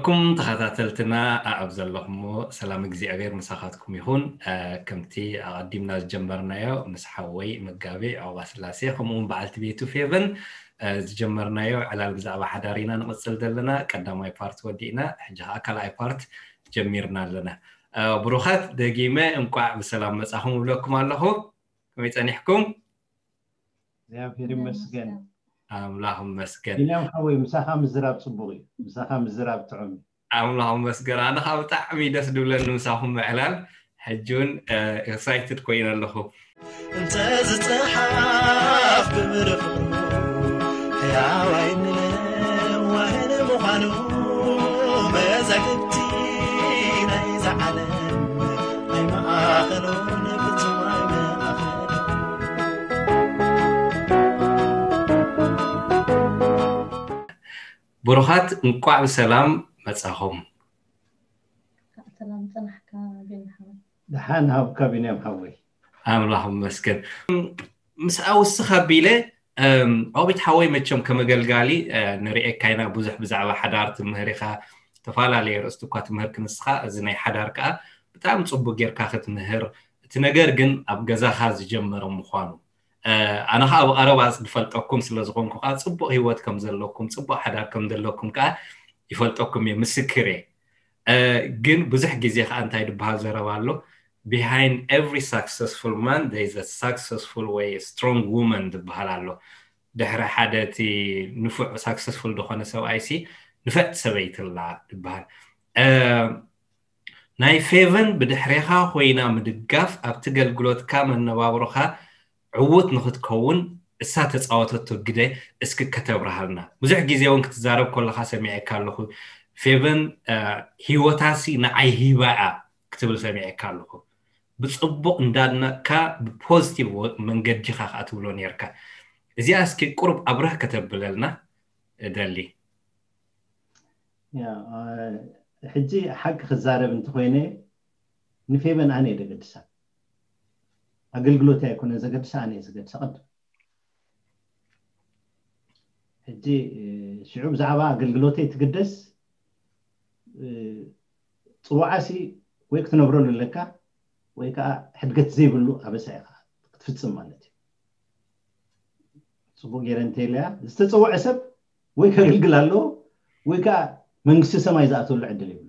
ኩም ተኸታተልትና ኣብ ዘለኹሞ ሰላም እግዚኣብሔር ምሳኻትኩም ይኹን። ከምቲ ኣቐዲምና ዝጀመርናዮ ምስ ሓወይ መጋቤ ዑቕባ ስላሴ ከምኡውን በዓልቲ ቤቱ ፌቨን ዝጀመርናዮ ዕላል ብዛዕባ ሓዳር ኢና ንቕጽል ዘለና። ቀዳማይ ፓርት ወዲእና ሕጂ ከዓ ካልኣይ ፓርት ጀሚርና ኣለና። ብሩኻት፣ ደጊመ እንቋዕ ብሰላም መጻኹም እብለኩም ኣለኹ። ከመይ ጸኒሕኩም? እግዚኣብሔር ይመስገን። ኣምላኽ ይመስገን። ቢንያም ሓወይ፣ ምሳኻ ምዝራብ ጽቡቕ እዩ። ምሳኻ ምዝራብ ጥዑም እዩ። ኣምላኽ ይመስገን። ኣነ ከዓ ብጣዕሚ ደስ ድብለኒ ምሳኹም ምዕላል። ሕጂ እውን ኤክሳይትድ ኮይነ ኣለኹ። እንተ ዝፀሓፍ ግብሪ ፍቕሩ ሕያዋይ ንለዋህን ምዃኑ መዛግብቲ ናይዛ ዓለም ኣይመኣኸሉን ፍጹም ኣይመኣኸሉን። ብሩኻት፣ እንቋዕ ብሰላም መጻኹም። ሰላም ጽናሕካ ቢኒ ሓወይ። ደሓን ሃብካ ቢንያም ሓወይ። ኣምላኽ ይመስገን። ምስኣ ውስኽ ኣቢለ ዖቢት ሓወይ፣ መቸም ከም ኣገልጋሊ ንርኤካ ኢና፣ ብዙሕ ብዛዕባ ሓዳር ትምህር ኢኻ፣ ዝተፈላለየ ርእስቲ እኳ ትምህር ክንስኻ፣ እዚ ናይ ሓዳር ከኣ ብጣዕሚ ጽቡቅ ጌርካ ክትምህር፣ እቲ ነገር ግን ኣብ ገዛኻ ዝጀመረ ምዃኑ ኣነ ከዓ ብቐረባ ዝፈልጠኩም ስለ ዝኾንኩ ከዓ ፅቡቅ ህይወት ከም ዘለኩም፣ ፅቡቅ ሓዳር ከም ዘለኩም ከዓ ይፈልጠኩም እየ፣ ምስክር እየ። ግን ብዙሕ ግዜ ከዓ እንታይ ዝበሃል ዘረባ ኣሎ፣ behind every successful man there is a successful ወይ strong woman ዝበሃል ኣሎ። ድሕሪ ሓደ እቲ ንፉዕ ሳክሰስፉል ዝኾነ ሰብኣይ ሲ ንፍዕቲ ሰበይቲ ኣላ ዝበሃል። ናይ ፌቨን ብድሕሬኻ ኮይና ምድጋፍ ኣብቲ ገልግሎትካ መነባብሮኻ ዕዉት ንኽትከውን እሳ ተፃወተቶ ግደ እስኪ ከተብርሃልና። ብዙሕ ግዜ እውን ክትዛረብ ከለኻ ሰሚዐካ ኣለኹ። ፌቨን ሂወታሲ ንዓይ ሂባ እያ ክትብል ሰሚዐካ ኣለኹ። ብፅቡቕ እንዳድነቕካ ብፖዚቲቭ መንገዲ ኢኻ ከዓ ትብሎ ነርካ። እዚኣ እስኪ ቁሩብ ኣብርህ ከተብለልና እደሊ። ሕጂ ሓቂ ክዛረብ እንተኮይነ ንፌቨን ኣነ እየ ዘገድሳ። ኣገልግሎት ኣይኮነ ዘገድሳ፣ ኣነ እየ ዘገድሳ ቅድም። ሕጂ ሽዑ ብዛዕባ ኣገልግሎተይ ትግደስ ፅዋዓሲ ወይ ክትነብረሉ ኣለካ ወይ ከዓ ሕድገት ዘይብሉ ኣበሳ ኢኻ ክትፍፅም ማለት እዩ። ፅቡቅ ገይረ እንተኢለያ ዝተፀውዐ ሰብ ወይ ከገልግል ኣለዎ ወይ ከዓ መንግስቲ ሰማይ ዝኣተሉ ዕድል ይብሉ።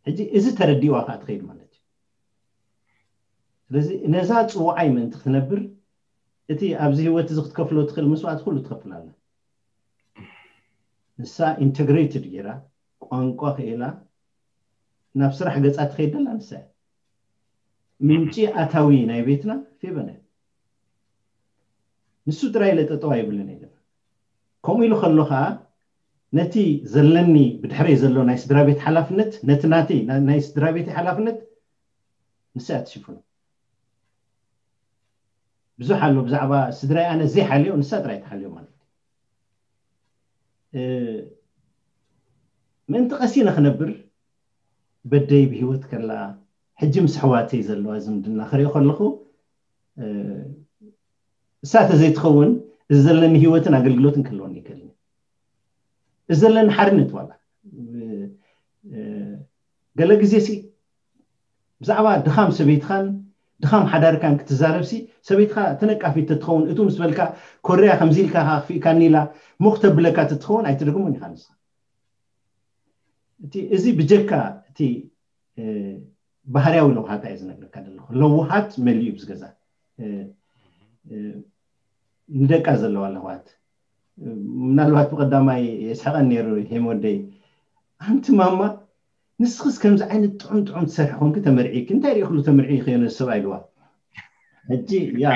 ሕጂ እዚ ተረዲዋ ከዓ ትኸይድ ማለት እዩ። ስለዚ ነዛ ፅዋዓይ ምእንቲ ክትነብር እቲ ኣብዚ ህይወት እዚ ክትከፍሎ ትኽእል መስዋዕቲ ኩሉ ትኸፍል ኣላ። ንሳ ኢንተግሬትድ ገይራ ቋንቋ ክኢላ ናብ ስራሕ ገፃ ትኸይድ ደላ ንሳ እያ። ምንጪ ኣታዊ ናይ ቤትና ፌቨን እያ። ንሱ ጥራይ ኢለ ጠጠው ኣይብልን እየ። ከምኡ ኢሉ ከሎ ከዓ ነቲ ዘለኒ ብድሕረይ ዘሎ ናይ ስድራ ቤት ሓላፍነት ነቲ ናተይ ናይ ስድራ ቤት ሓላፍነት ንሳ እያ ትሽፍኖ። ብዙሕ ኣሎ ብዛዕባ ስድራይ ኣነ ዘይሓልዮ ንሳ ጥራይ ትሓልዮ ማለት እዩ። ምእንቲ ቀሲነ ክነብር በደይ ብሂወት ከላ ሕጂ ምስ ኣሕዋተይ ዘለዋ ዝምድና ክሪኦ ከለኹ እሳ ተዘይትኸውን እዚ ዘለኒ ሂወትን ኣገልግሎትን ክህልወኒ ይክእል። እዚ ዘለኒ ሓርነት ዋላ ገለ ግዜ ሲ ብዛዕባ ድኻም ሰበይትኻን ድኻም ሓዳርካን ክትዛረብ ሲ ሰበይትኻ ተነቃፊት ተትኸውን እቱ ምስ በልካ ኮርያ ከምዚ ኢልካ ከኽፊእካኒ ኢላ ሞኽ ተብለካ ተትኸውን ኣይትደግሞን ኢኻ ንስኻ። እቲ እዚ ብጀካ እቲ ባህርያዊ ለውሃታ እየ ዝነግረካ ዘለኹ። ለውሃት መሊኡ ብዝገዛ ንደቃ ዘለዋ ለውሃት ምናልባት ብቀዳማይ የስሐቀን ነይሩ ሄም ወደይ ኣንቲ ማማ ንስኽስ ከምዚ ዓይነት ጥዑም ጥዑም ትሰርሒ ኮንኪ ተመርዒ እንታይ ሪእክሉ ተመርዒ ይኸዮ ነዚ ሰብኣይ ኢልዋ። ሕጂ ያ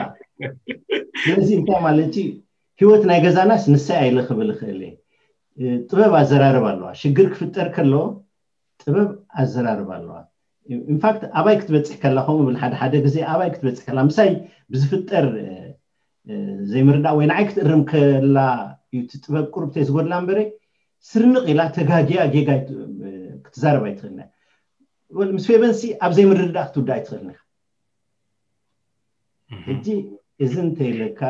ስለዚ እንታይ ማለት ህይወት ናይ ገዛናስ ንሳይ ኣይለ ክብል እኽእል እየ። ጥበብ ኣዘራርብ ኣለዋ። ሽግር ክፍጠር ከሎ ጥበብ ኣዘራርብ ኣለዋ። ኢንፋክት ኣባይ ክትበፅሕ ከላ ከምኡ ብል ሓደ ሓደ ግዜ ኣባይ ክትበፅሕ ከላ ምሳይ ብዝፍጠር ዘይምርዳእ ወይ ንዓይ ክትእርም ከላ እዩ እቲ ጥበብ ቁርብተይ ዝጎድላ እምበረ ስርንቕ ኢላ ተጋጊያ ጌጋ ክትዛረብ ኣይትኽእልና። ምስ ፌቨንሲ ኣብ ዘይምርድዳእ ክትውዳእ ኣይትኽእልና። ሕጂ እዚ እንተይለካ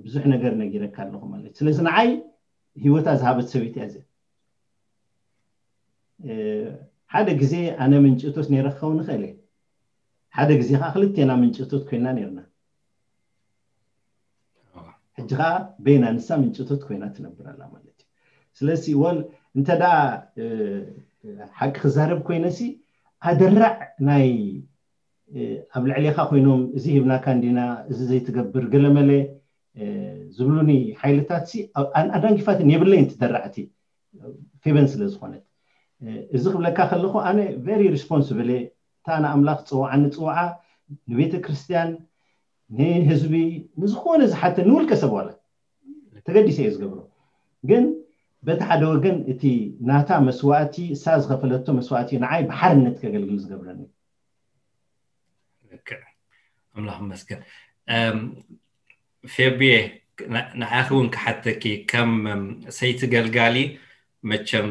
ብዙሕ ነገር ነጊረካ ኣለኹ ማለት እዩ። ስለዚ ንዓይ ህይወታ ዝሃበት ሰበይቲ እያ እዚኣ። ሓደ ግዜ ኣነ ምንጭቶት ነይረ ክኸውን ይኽእል እየ። ሓደ ግዜ ከዓ ክልቴና ምንጭቶት ኮይና ነርና። ሕጂ ከዓ በይና ንሳ ምንጭቶት ኮይና ትነብር ኣላ ማለት እዩ። ስለዚ ወል እንተ ደኣ ሓቂ ክዛረብ ኮይነሲ ኣደራዕ ናይ ኣብ ልዕሌኻ ኮይኖም እዚ ሂብናካ እንዲና፣ እዚ ዘይትገብር ገለመለ ዝብሉኒ ሓይልታት ሲ ኣዳንጊፋትን የብለይን ትደራዕቲ ፌበን ስለ ዝኾነት። እዚ ክብለካ ከለኹ ኣነ ቨሪ ሪስፖንስብል እየ። እታ ንኣምላኽ ዝፅውዓኒ ፅውዓ ንቤተ ክርስቲያን፣ ንህዝቢ፣ ንዝኾነ ዝሓተ ንውልቀ ሰብ ዋላ ተገዲሰ እየ ዝገብሮ። ግን በቲ ሓደ ወገን እቲ ናታ መስዋእቲ፣ እሳ ዝኸፈለቶ መስዋእቲ ንዓይ ብሓርነት ከገልግል ዝገብረኒ። ልክዕ። ኣምላኽ ይመስገን። ፌብየ፣ ንዓኺ እውን ክሓተኪ፣ ከም ሰይቲ ገልጋሊ፣ መቸም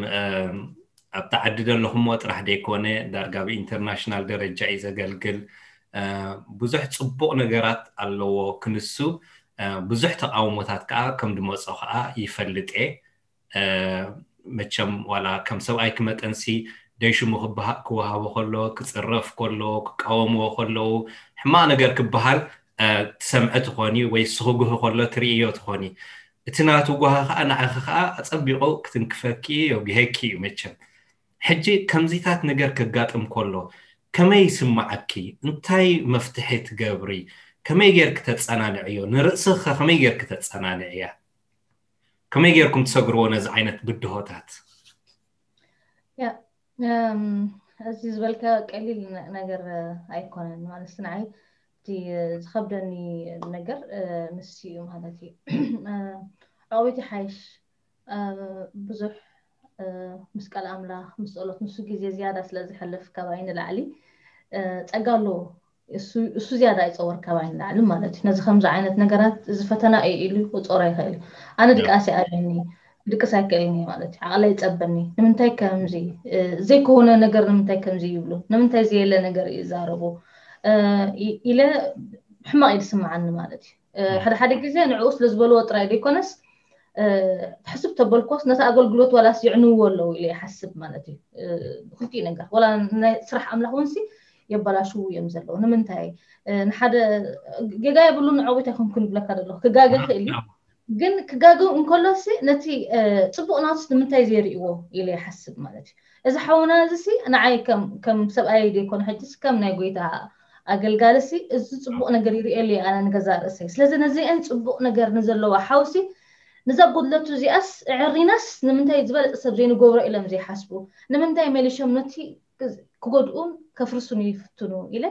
ኣብቲ ዓዲ ዘለኹሞ ጥራሕ ዘይኮነ፣ ዳርጋ ብኢንተርናሽናል ደረጃ እዩ ዘገልግል። ብዙሕ ፅቡቕ ነገራት ኣለዎ ክንሱ፣ ብዙሕ ተቃውሞታት ከዓ ከም ድመፆ ከዓ ይፈልጥ እየ። መቸም ዋላ ከም ሰብኣይ ክመጠንሲ ደይሽሙ ክወሃቦ ከሎ፣ ክፅረፍ ከሎ፣ ክቃወምዎ ከለዉ፣ ሕማቕ ነገር ክበሃል ትሰምዐ ትኾኒ ወይ ስኽጉህ ከሎ ትርእዮ ትኾኒ። እቲ ናቱ ጓሂ ከዓ ንዓኺ ከዓ ኣፀቢቑ ክትንክፈኪ የጉሄኪ እዩ። መቸም ሕጂ ከምዚታት ነገር ከጋጥም ከሎ ከመይ ይስምዓኪ? እንታይ መፍትሒ ትገብሪ? ከመይ ጌርኪ ተፀናንዕዮ? ንርእስኺ ከመይ ጌርኪ ተፀናንዕያ? ከመይ ጌርኩም ትሰግርዎ ነዚ ዓይነት ብድሆታት? እዚ ዝበልካ ቀሊል ነገር ኣይኮነን። ማለት ንዓይ እቲ ዝኸብደኒ ነገር ንሱ እዩ ማለት እዩ። ዕቕቤት ይሓይሽ። ብዙሕ ምስ ቃል ኣምላኽ፣ ምስ ጸሎት፣ ንሱ ግዜ ዝያዳ ስለ ዝሕልፍ ካባይ ንላዕሊ ጸጋ ኣለዎ። እሱ ዝያዳ ይጸወር ካባይ ንላዕሊ ማለት እዩ። ነዚ ከምዚ ዓይነት ነገራት እዚ ፈተና እዩ ኢሉ ክቆጸሮ ይኽእል እዩ። ኣነ ድቃስ ይኣብየኒ፣ ድቅስ ኣይክእልን እየ ማለት እዩ። ዓቕለይ ይጸበኒ። ንምንታይ ከምዚ ዘይከውነ ነገር ንምንታይ ከምዚ ይብሉ? ንምንታይ ዘየለ ነገር ይዛረቡ? ኢለ ሕማቕ እዩ ዝስምዓኒ ማለት እዩ። ሓደ ሓደ ግዜ ንዕኡ ስለ ዝበልዎ ጥራይ ዘይኮነስ፣ ሕስብ ተበልኮስ ነቲ ኣገልግሎት ዋላስ የዕንውዎ ኣለዉ ኢለ ይሓስብ ማለት እዩ። ክልቲኡ ነገር ዋላ ናይ ስራሕ ኣምላኽ እውን ሲ የበላሽዉ እዮም ዘለዉ። ንምንታይ ንሓደ ጌጋ የብሉን፣ ንዕውት ኣይኮንኩን ይብለካ ዘለኹ፣ ክጋገ ክእል እዩ። ግን ክጋገ እንከሎ ሲ ነቲ ፅቡቕ ናቱስ ንምንታይ ዘይርእዎ ኢለ ይሓስብ ማለት እዩ። እዚ ሓውና እዚ ሲ ንዓይ ከም ሰብኣይ ዘይኮነ ሕጂ ከም ናይ ጎይታ ኣገልጋሊ ሲ እዚ ፅቡቕ ነገር ይርእየሉ እየ ኣነ ንገዛ ርእሰይ። ስለዚ ነዚአን ፅቡቕ ነገር ንዘለዋ ሓውሲ ነዛ ጎድለቱ እዚኣስ ዕሪናስ ንምንታይ ዝበለፀ ሰብ ዘይንገብሮ ኢሎም ዘይሓስቡ፣ ንምንታይ መሊሾም ነቲ ክጎድኡን ከፍርሱን ይፍትኑ ኢለ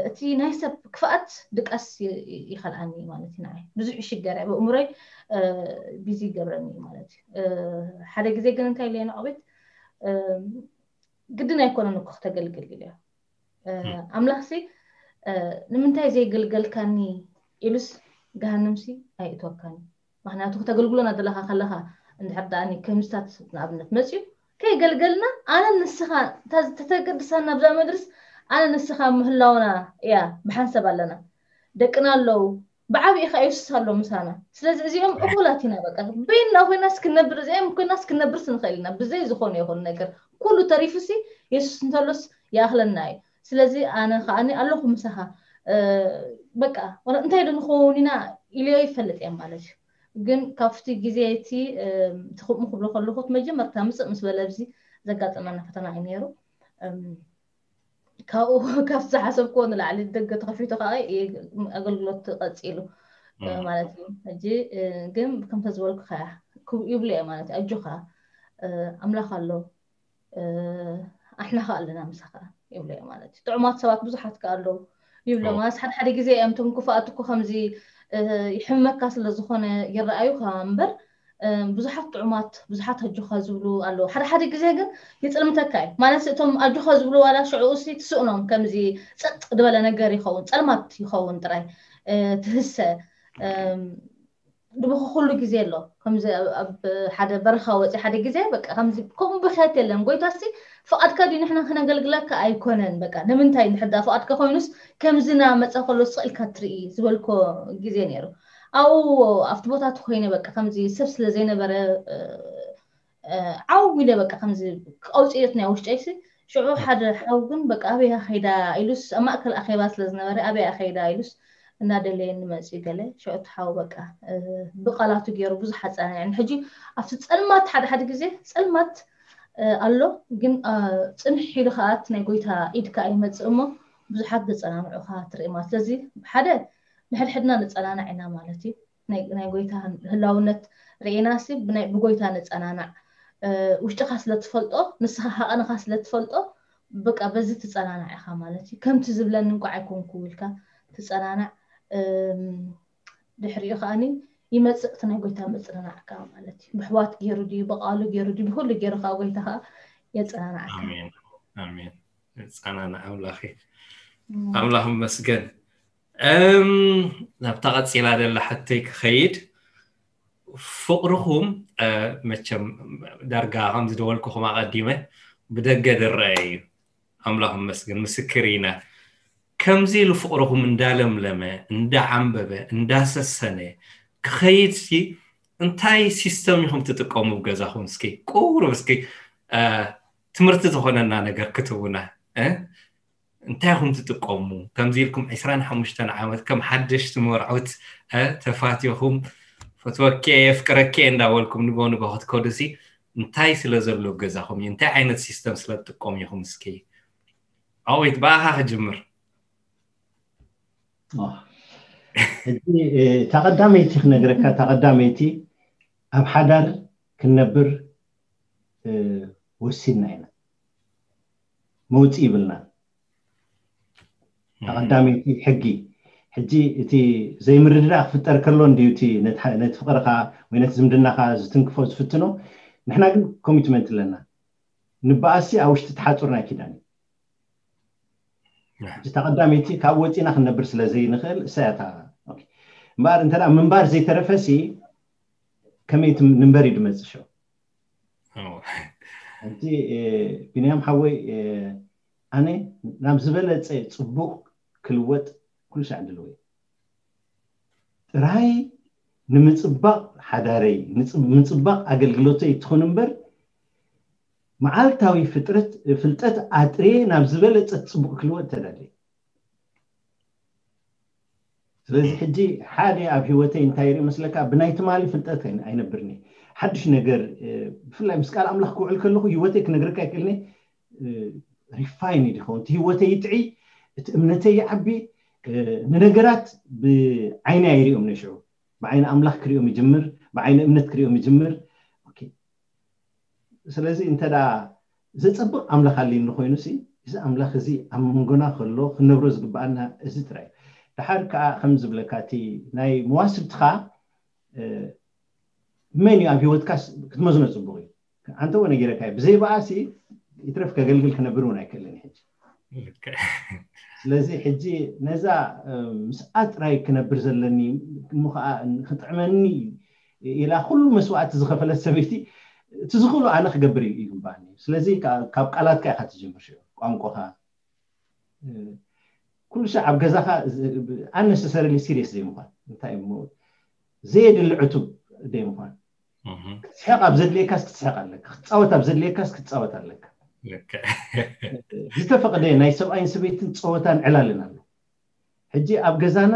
እቲ ናይ ሰብ ክፍኣት ድቃስ ይኸልኣኒ ማለት እዩ። ንዓይ ብዙሕ ይሽገር እየ ብእምሮይ ቢዚ ይገብረኒ ማለት እዩ። ሓደ ግዜ ግን እንታይ ኢለ ንዕቤት ግድን ኣይኮነን እኮ ክተገልግል ኢለ ኣምላኽሲ ንምንታይ ዘይገልገልካኒ ኢሉስ ገሃነምሲ ኣይእትወካኒ። ምክንያቱ ክተገልግሎና ዘለካ ከለካ እንድሕር ደኣ ከምስታት ንኣብነት መፅዩ ከይገልገልና ኣነ ንስኻ ተተገድሳና ብዛ መድርስ ኣነ ንስኻ ምህላውና እያ ብሓንሰብ ኣለና። ደቅና ኣለዉ ብዓብኢ ከ የሱስ ኣሎ ምሳና። ስለዚ እዚኦም እኩላት ኢና በቃ በይንና ኮይናስ ክንነብር እዚኦም ኮይናስ ክንነብርስ ንኽእል ኢና ብዘይ ዝኾነ ይኹን ነገር ኩሉ ተሪፉሲ የሱስ እንተሎስ ይኣኽለና እዩ። ስለዚ ኣነ ከዓኒ ኣለኹ ምሳኻ በቃ እንታይ ዶ ንኸውን ኢና ኢልዮ ይፈልጥ እየ ማለት እዩ። ግን ካብቲ ግዜ እቲ እቲ ከምኡ ክብሎ ከለኹ እቲ መጀመርታ ምፅእ ምስ በለ ኣብዚ ዘጋጠመና ፈተና እዩ ነይሩ። ካብኡ ካብ ዝሓሰብክዎ ንላዕሊ ደገ ተኸፊቱ ከዓ ኣገልግሎት ቀፂሉ ማለት እዩ። ሕጂ ግን ከምተ ዝበልኩ ከያ ይብሉ እየ ማለት እዩ። ኣጆኻ ኣምላኽ ኣሎ ኣሕና ከ ኣለና ምሳኻ ይብሎ ማለት እዩ። ጥዑማት ሰባት ብዙሓት ከ ኣለዉ ይብሎ ማለት ሓደ ሓደ ግዜ እዮም እቶም ክፉኣት እኮ ከምዚ ይሕመካ ስለ ዝኾነ ይረኣዩካ እምበር ብዙሓት ጥዑማት ብዙሓት ኣጆኻ ዝብሉ ኣለዉ። ሓደ ሓደ ግዜ ግን ይፅልምተካ እዩ ማለት እቶም ኣጆኻ ዝብሉ ዋላ ሽዕኡ ሲ ትስእኖም ከምዚ ፀጥ ዝበለ ነገር ይኸውን ፀልማት ይኸውን ጥራይ ትህሰ ድብኹ ኩሉ ግዜ ኣሎ ከምዚ ኣብ ሓደ በረኻ ወፂ ሓደ ግዜ በቃ ከምዚ ከምኡ ብክያት የለን ጎይታ ሲ ፍቓድካ ድዩ ንሕና ክነገልግለካ ኣይኮነን በቃ ንምንታይ እንድሕር ዳ ፍቓድካ ኮይኑስ ከምዚ ና መፀ ከሎ ስቕ ኢልካ ትርኢ ዝበልኮ ግዜ ነይሩ ኣብኡ ኣብቲ ቦታ እቲ ኮይነ በቃ ከምዚ ሰብ ስለ ዘይነበረ ዓው ኢለ በቃ ከምዚ ቀውፅየት ናይ ውሽጠይሲ ሽዑ ሓደ ሓው ግን በቃ ኣበያ ከይዳ ኢሉስ ኣብ ማእከል ኣኼባ ስለ ዝነበረ ኣበያ ከይዳ ኢሉስ እናደለየኒ መፅኡ ገለ ሽዑ እቲ ሓው በቃ ብቃላቱ ገይሩ ብዙሕ ኣፀናንዐኒ። ሕጂ ኣብቲ ፀልማት ሓደ ሓደ ግዜ ፀልማት ኣሎ፣ ግን ፅንሕ ኢሉ ከዓ እቲ ናይ ጎይታ ኢድ ከዓ ይመፅእ እሞ ብዙሓት ዘፀናንዑካ ትርኢ ማለት። ስለዚ ሓደ ንሕድሕድና ንፀናናዕ ኢና ማለት እዩ። ናይ ጎይታ ህላውነት ርኢናሲ ብጎይታ ንፀናናዕ። ውሽጥኻ ስለትፈልጦ ንስኻ ሃቐንኻ ስለትፈልጦ በቃ በዚ ትፀናናዕ ኢኻ ማለት እዩ። ከምቲ ዝብለኒ እንኳ ኣይኮንኩ ኢልካ ትፀናናዕ። ድሕሪኡ ከዓኒ ይመፅእ እቲ ናይ ጎይታ ምፅንናዕ ከዓ ማለት እዩ። ብሕዋት ገይሩ ድዩ ብቃሉ ገይሩ ድዩ ብኩሉ ገይሩ ከዓ ጎይታ ከዓ የፀናናዕካ። ኣሜን ኣሜን። ፃናና ኣምላኺ ኣምላኽ መስገን። ናብታ ቀፂላ ደላ ሕቶይ ክኸይድ፣ ፍቕርኹም መቸም ዳርጋ ከም ዝደወልኩኹም ኣቐዲመ ብደገ ድረአ እዩ። ኣምላኽ መስገን ምስክር ኢና። ከምዚ ኢሉ ፍቕርኹም እንዳለምለመ እንዳዓንበበ እንዳሰሰነ ክኸይድ ሲ እንታይ ሲስተም ኢኹም ትጥቀሙ ብገዛኹም? እስኪ ቁሩብ እስኪ ትምህርቲ ዝኾነና ነገር ክትውና እንታይ ኢኹም ትጥቀሙ? ከምዚ ኢልኩም ዕስራን ሓሙሽተን ዓመት ከም ሓደሽቲ መርዑት ተፋቲኹም ፈትወኬ የፍቅረኬ እንዳበልኩም ንጎ ንጎ ክትከዱ ሲ እንታይ ስለ ዘሎ ገዛኹም እዩ? እንታይ ዓይነት ሲስተም ስለ ትጥቀሙ ኢኹም? እስኪ ኣወይት ብኣኻ ክጅምር። ሕጂ እታ ቀዳመይቲ ክነግረካ፣ እታ ቀዳመይቲ ኣብ ሓዳር ክንነብር ወሲንና ኢና፣ መውፅእ ይብልና። እታ ቀዳመይቲ ሕጊ። ሕጂ እቲ ዘይምርድዳእ ክፍጠር ከሎ እንድዩ እቲ ነቲ ፍቅርካ ወይ ነቲ ዝምድናካ ዝትንክፎ ዝፍትኖ። ንሕና ግን ኮሚትመንት ኣለና። ንበኣሲ ኣብ ውሽጢ ተሓፁርና ኪዳን እዩ። እታ ቀዳመይቲ ካብ ወፂና ክንነብር ስለ ዘይንኽእል እሳያታ። እምበኣር እንተ ምንባር ዘይተረፈሲ ከመይ ንንበር እዩ ድመፅሾ። እቲ ቢንያም ሓወይ ኣነ ናብ ዝበለፀ ፅቡቅ ክልወጥ ኩሉ ሳዕ ድልወ ጥራይ ንምፅባቕ ሓዳረይ ምፅባቕ ኣገልግሎተይ ትኹን እምበር መዓልታዊ ፍልጠት ኣጥርየ ናብ ዝበለፀ ፅቡቅ ክልወጥ ተዳለየ። ስለዚ ሕጂ ሓደ ኣብ ህይወተይ እንታይ ርኢ መስለካ፣ ብናይ ትማሊ ፍልጠት ኣይነብርኒ። ሓድሽ ነገር ብፍላይ ምስ ቃል ኣምላኽ ክውዕል ከለኹ ህይወተይ ክነግረካ ይክእልኒ። ሪፋይን ይኸውን እቲ ህይወተይ ይጥዒ፣ እቲ እምነተይ ይዓቢ። ንነገራት ብዓይኒ ኣይሪኦም ነሽዑ ብዓይኒ ኣምላኽ ክሪኦም ይጅምር፣ ብዓይኒ እምነት ክሪኦም ይጅምር። ስለዚ እንተ ዘፀብቕ ኣምላኽ ኣልኒ ኮይኑ ሲ እዚ ኣምላኽ እዚ ኣብ መንጎና ከሎ ክንነብሮ ዝግብኣና እዚ ጥራይ። ድሓር ከዓ ከም ዝብለካ እቲ ናይ መዋስብትኻ መን እዩ ኣብ ህይወትካ ክትመዝኖ ፅቡቅ እዩ። ኣንተ እውን ነጊረካ ብዘይ በኣሲ ይትረፍ ከገልግል ክነብር እውን ኣይክእልን ሕጂ። ስለዚ ሕጂ ነዛ ምስኣ ጥራይ ክነብር ዘለኒ እሞ ከዓ ክጥዕመኒ ኢላ ኩሉ መስዋእቲ ዝኸፈለት ሰበይቲ እቲ ዝኽእሉ ኣነ ክገብር ይግባኣኒ። ስለዚ ካብ ቃላትካ ኢካ ትጅምር፣ ቋንቋኻ ኩሉ ሻዕ ኣብ ገዛኻ ኣነሰሰሪሊ ሲሪየስ ዘይምኳን። እንታይ እሞ ዘየድሊ ዕቱብ ዘይምኳን። ክትስሕቕ ኣብ ዘድልየካስ ክትስሕቕ ኣለካ፣ ክትፃወት ኣብ ዘድልየካስ ክትፃወት ኣለካ። ዝተፈቕደ ናይ ሰብኣይን ሰበይትን ፀወታን ዕላልን ኣሎ። ሕጂ ኣብ ገዛና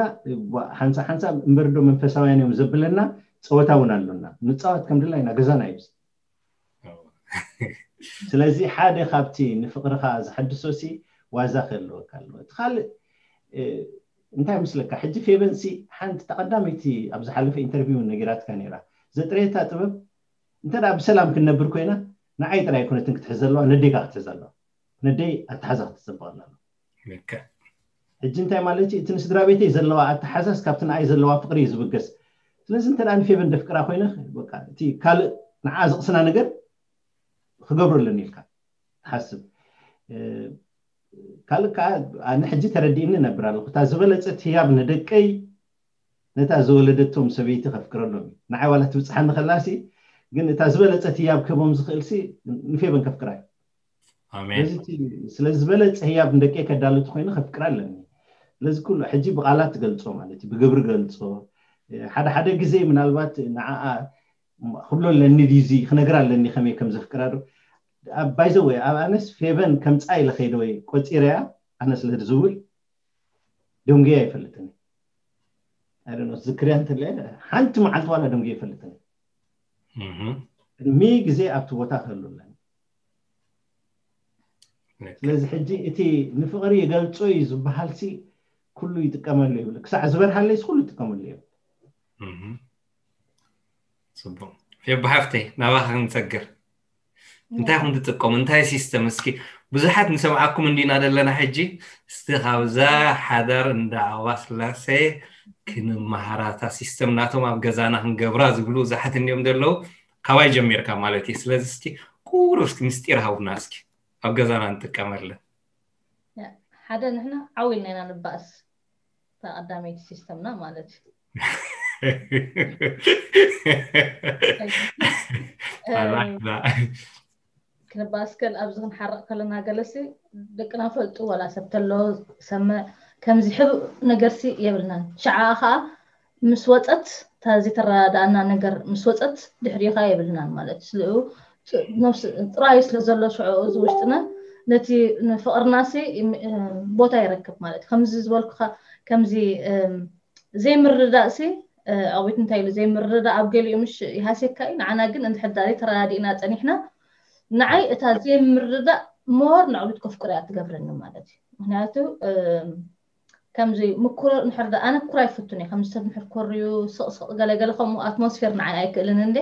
ሓንሳ ሓንሳ እምበርዶ መንፈሳውያን እዮም ዘብለና፣ ፀወታ እውን ኣሎና። ንፃወት ከም ድላይና ገዛና እዩ። ስለዚ ሓደ ካብቲ ንፍቅርካ ዝሐድሶ ሲ ዋዛ ክህልወካ ኣለዎ። እቲ ካልእ እንታይ ምስለካ፣ ሕጂ ፌቨን ሲ ሓንቲ ተቀዳመይቲ ኣብ ዝሓለፈ ኢንተርቪው እውን ነጊራትካ ነይራ። ዘጥረየታ ጥበብ እንተ ደኣ ብሰላም ክንነብር ኮይና ንዓይ ጥራይ ኣይኮነትን ክትሕዝ ዘለዋ፣ ነዴካ ክትሕዝ ኣለዋ። ነደይ ኣተሓዛ ክትፅበቀላ ኣለዋ። ሕጂ እንታይ ማለት እዩ? እቲ ንስድራ ቤተይ ዘለዋ ኣተሓዛስ ካብቲ ንኣይ ዘለዋ ፍቅሪ እዩ ዝብገስ። ስለዚ እንተ ንፌቨን ደፍቅራ ኮይነ በቃ እቲ ካልእ ንዓ ዝቕስና ነገር ክገብሮ ኣለኒ ኢልካ ትሓስብ። ካልእ ከዓ ኣነ ሕጂ ተረዲእኒ ነብር ኣለኹ። እታ ዝበለፀት ህያብ ንደቀይ ነታ ዝወለደቶም ሰበይቲ ከፍቅረሎም እዩ። ንዓይ ዋላ ትብፅሓኒ ከላሲ ግን እታ ዝበለፀት ህያብ ክህቦም ዝኽእልሲ ንፌቨን ከፍቅራ እዩ። ስለዚ ዝበለፀ ህያብ ንደቀይ ከዳሉ ተኮይኑ ከፍቅራ ኣለኒ። ስለዚ ኩሉ ሕጂ ብቃላት ትገልፆ ማለት እዩ፣ ብግብሪ ገልፆ። ሓደ ሓደ ግዜ ምናልባት ንዓኣ ክብሎ ኣለኒ ድዩ እዚ ክነግር ኣለኒ ከመይ ከም ዘፍቅራ ዶ? By the way ኣብ ኣነስ ፌቨን ከምፃ ኢለ ከይደ ወይ ቆፂረያ ኣነ ስለ ዝብል ደንጉየ ኣይፈልጥን። ዝክርያ እንተለ ሓንቲ መዓልቲ ዋላ ደንጉየ ኣይፈልጥን። ቅድሚ ግዜ ኣብቲ ቦታ ክህሉ ኣለኒ። ስለዚ ሕጂ እቲ ንፍቕሪ ይገልጾ እዩ ዝበሃል ሲ ኩሉ ይጥቀመሉ ይብል። ክሳዕ ዝበርሃለይስ ኩሉ ይጥቀመሉ ይብል። ፅቡቅ። ፌቡ ሓፍተይ ናባኻ ክንሰግር። እንታይ ኢኹም ትጥቀሙ? እንታይ ሲስተም? እስኪ ብዙሓት ንሰምዓኩም እንዲና ዘለና ሕጂ። እስቲ ካብዛ ሓዳር እንዳ ዓዋ ስላሴ ክንመሃራታ ሲስተም ናቶም ኣብ ገዛና ክንገብራ ዝብሉ ብዙሓት እንዲዮም ዘለዉ። ካባይ ጀሚርካ ማለት እዩ። ስለዚ እስኪ ቁሩብ እስኪ ምስጢር ሃቡና እስኪ ኣብ ገዛና ንጥቀመለን። ሓደ ንሕና ዓው ኢልና ኢና ንባእስ። እታ ቀዳመይቲ ሲስተምና ማለት እዩ። ክንባስከል ኣብዚ ክንሓረቕ ከለና ገለሲ ደቅና ፈልጡ ዋላ ሰብ ተሎ ሰምዕ ከምዚ ሕቡእ ነገርሲ የብልናን። ሽዓ ከዓ ምስ ወፀት እታ ዝተረዳዳእና ነገር ምስ ወፀት ድሕሪኻ የብልናን ማለት እዩ። ስለኡ ጥራዩ ስለ ዘሎ ሽዑ እዚ ውሽጥና ነቲ ንፍቕርናሲ ቦታ ይረክብ ማለት እዩ። ከምዚ ዝበልኩኻ ከምዚ ዘይምርዳእ ሲ ኣቤት እንታይ ኢሉ ዘይምርዳእ ኣብ ገሊኡ ምሽ ይሃሴካ እዩ። ንዓና ግን እንድሕር ዳኣ ተረዳዲእና ፀኒሕና ንዓይ እታ ዘይምርዳእ ሞር ንዕሉት ከፍቅሮ እያ ትገብረኒ ማለት እዩ። ምክንያቱ ከምዚ ምኩር ንሕር ዳ ኣነ ኩራ ይፍቱን እየ። ከምዚ ሰብ ንሕር ኮርዩ ስቕስቕ ገለገለ ከምኡ ኣትሞስፌር ንዓይ ኣይክእልን እንደ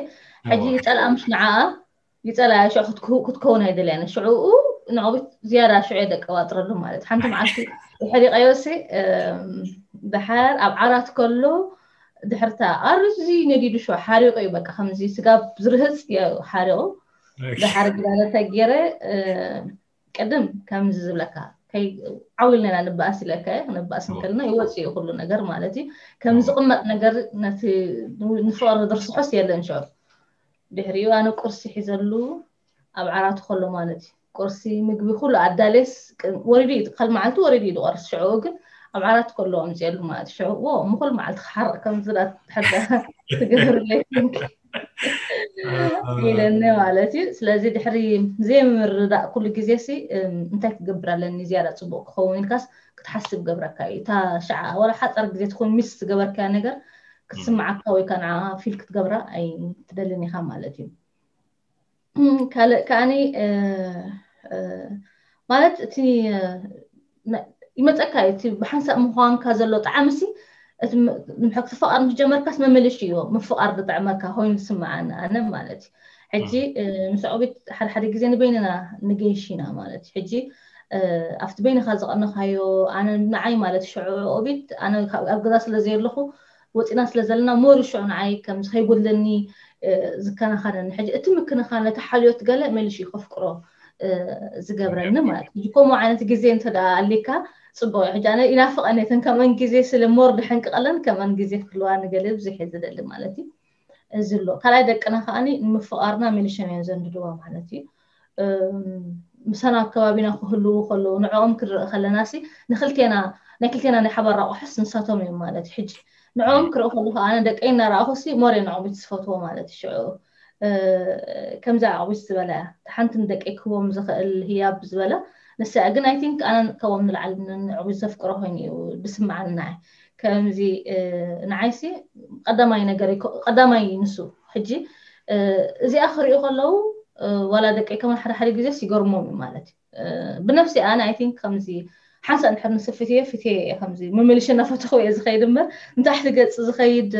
ሕጂ ይፀልኣ ምሽ ንዓኣ ይፀልኣ ሽዑ ክትከውን ኣይደልያን ሽዑኡ ንዕቤት ዝያዳ ሽዑ የደቀባጥረሉ ማለት ሓንቲ መዓልቲ ሕሪቀዮሲ ድሓር ኣብ ዓራት ከሎ ድሕርታ ኣርዚ ነዲዱ ሽዑ ሓሪቁ እዩ በቃ ከምዚ ስጋብ ዝርህፅ ሓሪቁ ድሓር ግዳለ ተጌረ ቅድም ከምዚ ዝብለካ ዓው ኢልና ኢና ንባእስ ኢለካ ክንባእስ እንከልና ይወፅእ እዩ ኩሉ ነገር ማለት እዩ። ከም ዝቕመጥ ነገር ነቲ ንፍቕሪ ዝርስሖስ የለን ሽዑ። ድሕሪኡ ኣነ ቁርሲ ሒዘሉ ኣብ ዓራቱ ከሎ ማለት እዩ። ቁርሲ ምግቢ ኩሉ ኣዳሌስ ወሪዱ እዩ፣ ካልእ መዓልቲ ወሪዱ እዩ ዝቆርስ። ሽዑ ግን ኣብ ዓራት ከሎ ኣምፅኤሉ ማለት እዩ። ሽዑ ዎ ምኩል መዓልቲ ክሓርቕ ከም ዝላት ሕዳ ትገብርለይ ኢለኒ ማለት እዩ። ስለዚ ድሕሪ ዘይምርዳእ ኩሉ ግዜ ሲ እንታይ ክገብር ኣለኒ ዝያዳ ፅቡቅ ክኸውን ኢልካስ ክትሓስብ ገብረካ እዩ። እታ ሸዓ ወላ ሓፀር ግዜ ትኹን ሚስ ዝገበርካያ ነገር ክትስምዓካ ወይ ከዓ ንዓ ፊል ክትገብራ ኣይትደልን ኢኻ ማለት እዩ። ካልእ ከዓኒ ማለት እቲ ይመፀካ እዩ እቲ ብሓንሳብ ምኳንካ ዘሎ ጣዕሚ ሲ እቲ ንምሕክቲ ፍቃር ምስ ጀመርካስ መመለሽ እዩ ምፍቃር ዝጥዕመካ ኮይኑ ዝስምዓኒ ኣነ ማለት እዩ። ሕጂ ምስ ዑቢት ሓደ ሓደ ግዜ ንበይንና ንገይሽ ኢና ማለት እዩ። ሕጂ ኣብቲ በይንካ ዝቀነካዮ ኣነ ንዓይ ማለት ሽዑ ዑቢት ኣነ ኣብ ገዛ ስለ ዘየለኩ ወፂና ስለ ዘለና ሞር ሽዑ ንዓይ ከም ዝከይጎድለኒ ዝከናኸነኒ ሕጂ እቲ ምክንኻን ነቲ ሓልዮት ገለ መሊሽ እዩ ከፍቅሮ ዝገብረኒ ማለት እዩ። ከምኡ ዓይነት ግዜ እንተ ኣሊካ ፅቡቅ እዩ። ሕጂ ኣነ ይናፍቀን እተን ከምአን ግዜ ስለ ሞር ድሕንቅቀለን ከምአን ግዜ ክህልዋ ንገለ ብዙሕ እየ ዝደሊ ማለት እዩ። እዚ ኣሎ ካልኣይ ደቅና ከዓኒ ንምፍቃርና መሊሾም እዮም ዘንድድዋ ማለት እዩ። ምሳና ኣብ ከባቢና ክህልዉ ከለዉ ንዕኦም ክንርኢ ከለና ሲ ንክልቴና ናይ ክልቴና ናይ ሓባር ኣቑሑስ ንሳቶም እዮም ማለት እዩ። ሕጂ ንዕኦም ክርኢ ከለኹ ኣነ ደቀይ እናረኣኹ ሲ ሞር እየ ንዕኦም ዝፈትዎ ማለት እዩ። ሽዑ ከምዛ ኣቑቢት ዝበለ ሓንቲ ንደቀይ ክህቦም ዝኽእል ህያብ ዝበለ ንሳ ግን ኣይ ቲንክ ኣነ ካብኦም ንላዕሊ ንዕቡት ዘፍቅሮ ኮይኑ እዩ ዝስምዓኒ ንዓይ። ከምዚ ንዓይሲ ቀዳማይ ነገር ቀዳማይ ንሱ ሕጂ እዚኣ ክሪኡ ከለዉ ዋላ ደቀይ ከማን ሓደ ሓደ ግዜስ ይገርሞም እዩ ማለት እዩ። ብነፍሲ ኣነ ኣይ ቲንክ ከምዚ ሓንሳእ እንድሕር ንስብ ፍትየ ፍትየ እየ ከምዚ መመልሸ እናፈተኹ እየ ዝኸይድ እምበር ንታሕቲ ገፅ ዝኸይድ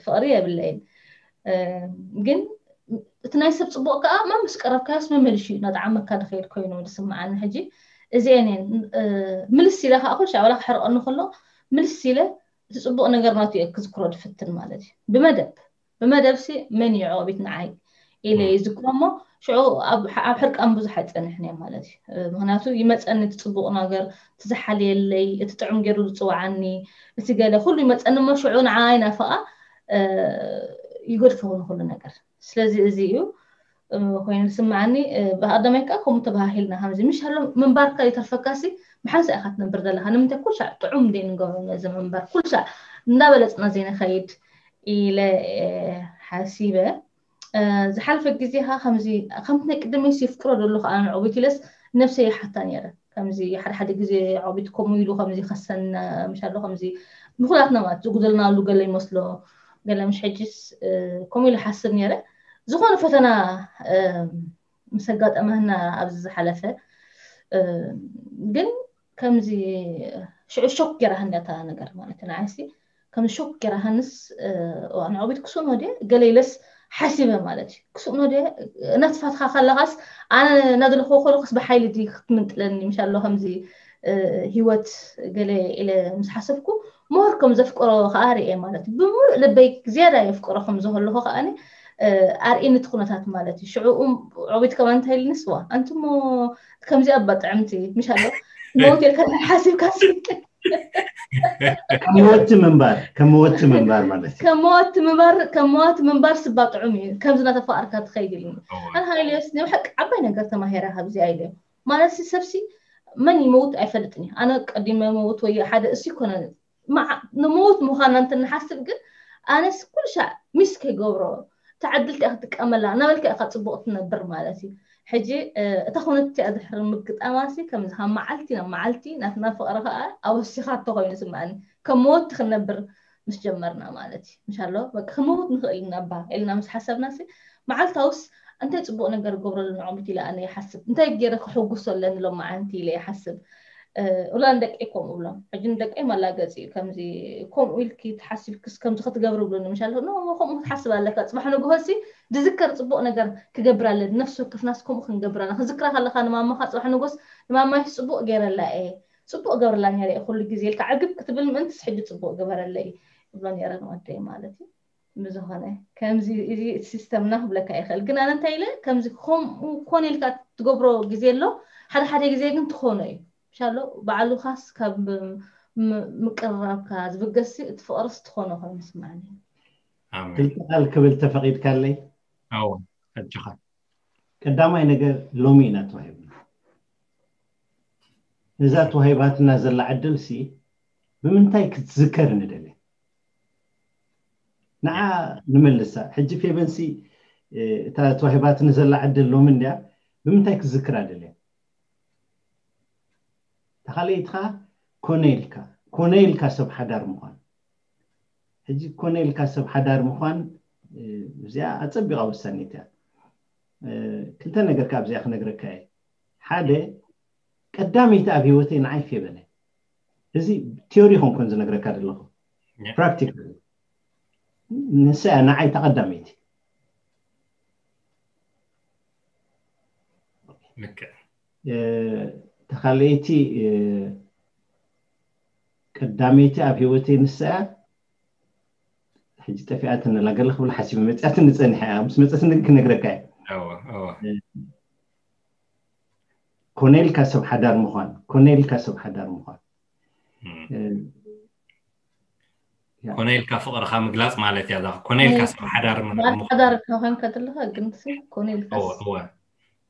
ፍቕሪ የብለይን። ግን እቲ ናይ ሰብ ፅቡቅ ከዓ መምስ ቀረብካዮስ መመልሽ እዩ እናጠዓመካ ዝኸይድ ኮይኑ ዝስምዓኒ። ሕጂ እዚአን እየን ምልስ ኢለ ከዓ ኩልሻ ዋላ ክሕርቀኒ ከሎ ምልስ ኢለ እቲ ፅቡቅ ነገር ናቱ እየ ክዝክሮ ዝፍትን ማለት እዩ። ብመደብ ብመደብ ሲ መን እዩ ዑቢት ንዓይ ኢለ ይዝክሮ እሞ ሽዑ ኣብ ሕርቃን ብዙሕ ኣይፀንሕን እየ ማለት እዩ። ምክንያቱ ይመፀኒ እቲ ፅቡቅ ነገር እቲ ዝሓልየለይ እቲ ጥዑም ገይሩ ዝፅውዓኒ እቲ ገለ ኩሉ ይመፀኒ እሞ ሽዑ ንዓይ ናፍቃ ይገድፎ ንኩሉ ነገር። ስለዚ እዚ እዩ ኮይኑ ዝስምዓኒ። ብቀዳማይ ከዓ ከምኡ ተባሃሂልና ከምዚ ምሽ ኣሎ ምንባርካ ይተርፈካሲ ብሓንሳ ኢካ ትነብር ዘለካ ንምንታይ ኩልሻዕ ጥዑም ደይ ንገብሮ ነዚ ምንባር ኩልሻዕ እንዳበለፅና ዘይንኸይድ ኢለ ሓሲበ። ዝሓለፈ ግዜ ካ ከምዚ ከምቲ ናይ ቅድመይ የፍቅሮ ዘሎ ከዓ ንዕቡት ኢለስ ነብሰይ ይሓታ ነይረ። ከምዚ ሓደ ሓደ ግዜ ዕቡት ከምኡ ኢሉ ከምዚ ከሰን ምሻሎ ከምዚ ንኩላትና ማለት ዝጉደልናሉ ገለ ይመስሎ፣ ገለ ምሽ ሕጅስ ከምኡ ኢሉ ሓስብ ነይረ። ዝኾነ ፈተና ምስ ኣጋጠመህና ኣብዚ ዝሓለፈ ግን ከምዚ ሽዑ ሾክ ገይራሃኒ እታ ነገር ማለት እዩ። ንዓይሲ ከም ሾክ ገይራሃንስ ንዕቤት ክስእኖ ድየ ገለ ኢለስ ሓሲበ ማለት እዩ። ክስእኖ ድየ እናትፋትካ ከለኻስ ኣነ እናደለኹ ከለኹስ ብሓይሊ ድዩ ክትምንጥለኒ ምሻሎ ከምዚ ህይወት ገለ ኢለ ምስ ሓሰብኩ ሞር ከም ዘፍቅሮ ከዓ ርኤ ማለት እዩ። ብምሉእ ልበይ ዝያዳ የፍቅሮ ከም ዝከለኹ ከዓኒ ኣርእኒ እቲ ኩነታት ማለት እዩ። ሽዑ ዕቤት ከማን እንታይ ኢልኒ ስዋ ኣንትሞ ከምዚኣ እባ ጥዕምቲ ምሻሎ ሞት ኢልካ ሓሲብካ ስልክ ከመወቲ ምንባር ከመወቲ ምንባር ማለት እዩ። ከመወቲ ምንባር ከመወቲ ምንባር ስባ ጥዑም እዩ። ከምዚ እናተፋቀርካ ትኸይድ ኢልኒ። ኣነ ሃይልዮስ ናይ ብሓቂ ዓባይ ነገር ተማሂረ ካብዚ ኢለ ማለት ሲ ሰብሲ መን ይመውት ኣይፈልጥን እዩ። ኣነ ቀዲመ መውት ወይ ሓደ እሱ ይኮነ ንመውት ምዃና እንትንሓስብ ግን ኣነስ ኩሉ ሻዕ ሚስ ከይገብሮ ተዓድልቲ ክትጥቀመላ እናበልካ ኢካ ፅቡቅ ትነብር ማለት እዩ። ሕጂ እታ ኩነት እቲኣ ድሕሪ ምግጣማሲ ከምዚ ካብ መዓልቲ ናብ መዓልቲ ናትና ፍቅሪ ከዓ ኣወሲኻቶ ኮይኑ ስምዓኒ። ከም መወቲ ክንነብር ምስ ጀመርና ማለት እዩ። ምሻሎ በቃ ክመውት ንኽእል ኢና እባ ኢልና ምስ ሓሰብና ሲ መዓልታውስ እንታይ ፅቡቅ ነገር ገብረሉ ንዕሙት ኢለ ኣነ ይሓስብ። እንታይ ገይረ ክሕጉሶ ኣለኒ ሎም መዓንቲ ኢለ ይሓስብ። ኡላ ንደቀይ ከምኡ ብሎም ሕጂ ንደቀይ መላገፂ እዩ። ከምዚ ከምኡ ኢልኪ ተሓሲብክስ ከምዚ ክትገብሪ ብሉኒ ምሻሎ ኖ ከምኡ ክትሓስብ ኣለካ። ፅባሕ ንግሆ ሲ ድዝከር ፅቡቅ ነገር ክገብር ኣለኒ። ነፍሲ ወከፍናስ ከምኡ ክንገብር ኣለና። ክዝክራ ከለካ ንማማካ ፅባሕ ንጎስ ንማማይስ ፅቡቅ ገይረላ እየ ፅቡቅ ገብርላ ነይረ እየ ኩሉ ግዜ ኢልካ ዕግብ ክትብል ምእንትስ ሕጂ ፅቡቅ ግበረለይ እብሎ ነይረ ንወደይ ማለት እዩ። ብዝኾነ ከምዚ እዚ ሲስተምና ክብለካ ይኽእል ግን ኣነ እንታይ ኢለ ከምዚ ከምኡ ኮነ ኢልካ ትገብሮ ግዜ ኣሎ። ሓደ ሓደ ግዜ ግን ትኾኖ እዩ። ሻሎ ባዕሉኻስ ካብ ምቅርራብካ ዝብገስ እቲ ፍቅርስ ትኾኖ ኮይኑ ስምዓኒ። ክልተ ቃል ክብል ተፈቂድካለይ? ኣዎ ኣጆኻ። ቀዳማይ ነገር ሎሚ ኢና ተዋሂብና። እዛ ተዋሂባትና ዘላ ዕድል ሲ ብምንታይ ክትዝከር ንደሊ? ንዓ ንመልሳ። ሕጂ ፌቨንሲ እታ ተዋሂባትኒ ዘላ ዕድል ሎሚ እንድያ ብምንታይ ክትዝክራ ደልያ? ተኻለይትኻ ኮነ ኢልካ ኮነ ኢልካ ሰብ ሓዳር ምዃን። ሕጂ ኮነ ኢልካ ሰብ ሓዳር ምዃን እዚኣ ኣጸቢቓ ወሳኒት እያ። ክልተ ነገር ካብ እዚኣ ክነግረካ እየ። ሓደ ቀዳመይቲ ኣብ ህይወተይ ንዓይ ፌበነ። እዚ ቲዮሪ ኮንኮን ዝነግረካ ዘለኹ ፕራክቲካል ንሳ እያ ንዓይ ተቐዳመይቲ። ልክዕ ተኻለይቲ ቀዳመይቲ ኣብ ህይወተይ ንሳ እያ። ሕጂ ጠፊኣትኒ ኣላ ገለ ክብል ሓሲበ መፅኣትኒ ፀኒሐ እያ ምስ መፀትኒ ክነግረካ እየ። እወ እወ ኮነልካ ሰብ ሓዳር ምዃን ኮነልካ ሰብ ሓዳር ምዃን ኮነልካ ፍቕርኻ ምግላፅ ማለት እያ። እዛ ኮነልካ ሰብ ሓዳር ሓዳር ኮንካ ተለካ ግን ኮነልካ እወ እወ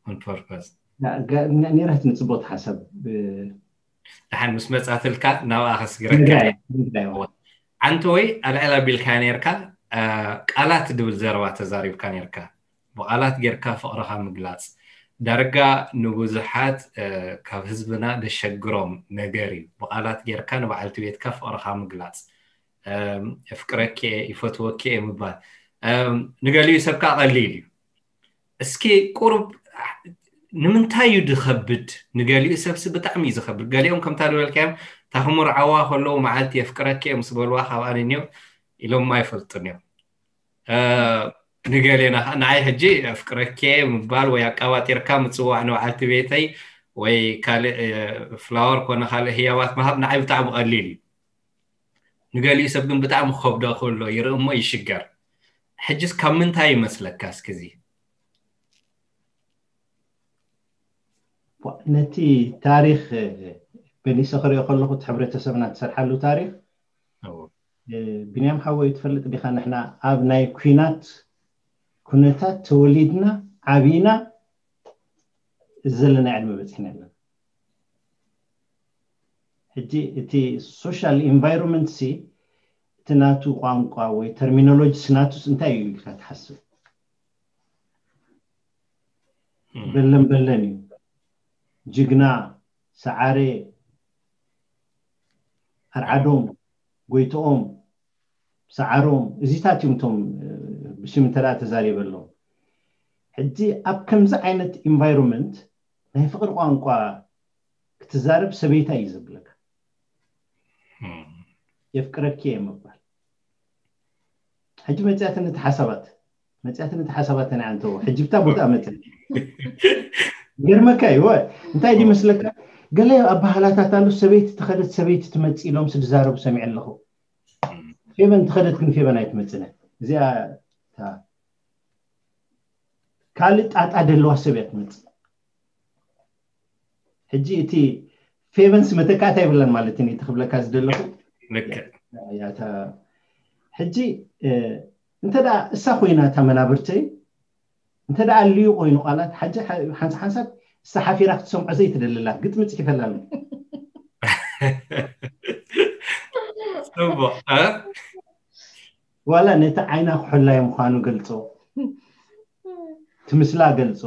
on purpose ኔራትኒ ፅቡቅ ሓሳብ ደሓን ምስ መፃትልካ ናብኣ ከስግረካ ዓንተ ወይ ኣልዕል ኣቢልካ ነርካ ቃላት ድብል ዘረባ ተዛሪብካ ነርካ ብቓላት ጌርካ ፍቕርኻ ምግላፅ ዳርጋ ንብዙሓት ካብ ህዝብና ደሸግሮም ነገር እዩ። ብቓላት ጌርካ ንበዓልቲ ቤትካ ፍቕርኻ ምግላፅ፣ የፍቅረኪ እየ፣ ይፈትወኪ እየ ምባል ንገሊኡ ሰብካ ቀሊል እዩ። እስኪ ቁሩብ ንምንታይ እዩ ዝኸብድ? ንገሊኡ ሰብሲ ብጣዕሚ እዩ ዝኸብድ። ገሊኦም ከምታ ዝበልካዮም እታ ክምርዓዋ ከለዉ መዓልቲ የፍቅረኪ እየ ምስ በልዋ ካብኣ ንንዮ ኢሎማ ኣይፈልጡን እዮም። ንገሌና ከዓ ንዓይ ሕጂ ኣፍቅረኬ ምባል ወይ ኣቃባጢርካ ምፅዋዕ ንበዓልቲ ቤተይ ወይ ካልእ ፍላወር ኮነ ካልእ ህያባት ምሃብ ንዓይ ብጣዕሚ ቀሊል እዩ። ንገሊኡ ሰብ ግን ብጣዕሚ ክኸብዶ ከሎ ይርኢ እሞ ይሽገር። ሕጅስ ካብ ምንታይ ይመስለካ እስኪ እዚ? ነቲ ታሪክ በኒሰ ክሪኦ ከለኩ እቲ ሕብረተሰብና ትሰርሓሉ ታሪክ ብንያም ሓወይ ትፈልጥ ዲካ ንሕና ኣብ ናይ ኩናት ኩነታት ተወሊድና ዓብይና እዚ ዘለና ዕድመ በፂሕና ኣለና። ሕጂ እቲ social environment ሲ እቲ ናቱ ቋንቋ ወይ terminology ሲ ናቱስ እንታይ እዩ ኢልካ ትሓስብ? በለን በለን እዩ። ጅግና፣ ሰዓረ፣ ኣርዓዶም፣ ጎይትኦም፣ ሰዓሮም፣ እዚታት እዮም እቶም ብሽም እንተ ተዛሪበሎም። ሕጂ ኣብ ከምዚ ዓይነት ኢንቫይሮንመንት ናይ ፍቕሪ ቋንቋ ክትዛረብ ሰበይታ እዩ ዘብለካ። የፍቅረኪ እየ ምባል። ሕጂ መፅያትነት ሓሳባት መፅያትነት ሓሳባት ናይ ኣንተዎ ሕጂ ብታ ቦታ መፅያ ገርመካ እዩ። እንታይ ዲ መስለካ፣ ገለ ኣባህላታት ኣሉ። ሰበይቲ ተኸደት ሰበይቲ ትመፅእ ኢሎም ስድዛረቡ ሰሚዐ ኣለኹ። ፌበን ተኸደት ግን ፌበን ኣይትመፅነ። እዚኣ ካልእ ጣጣ ደለዋ ሰብ እያ ትመፅእ። ሕጂ እቲ ፌቨንስ መተካእታ ይብለን ማለት እዩ። እቲ ክብለካ ዝደለኹ ሕጂ እንተ እሳ ኮይና እታ መናብርተይ እንተ ኣልዩ ኮይኑ ቃላት ሓንሳ ሓንሳብ እሳ ሓፊራ ክትሰምዖ ዘይትደልላት ግጥሚ ፅሒፈላ ኣሎ። ዋላ ነቲ ዓይና ክሕላይ ምዃኑ ገልፆ፣ ትምስላ ገልፆ።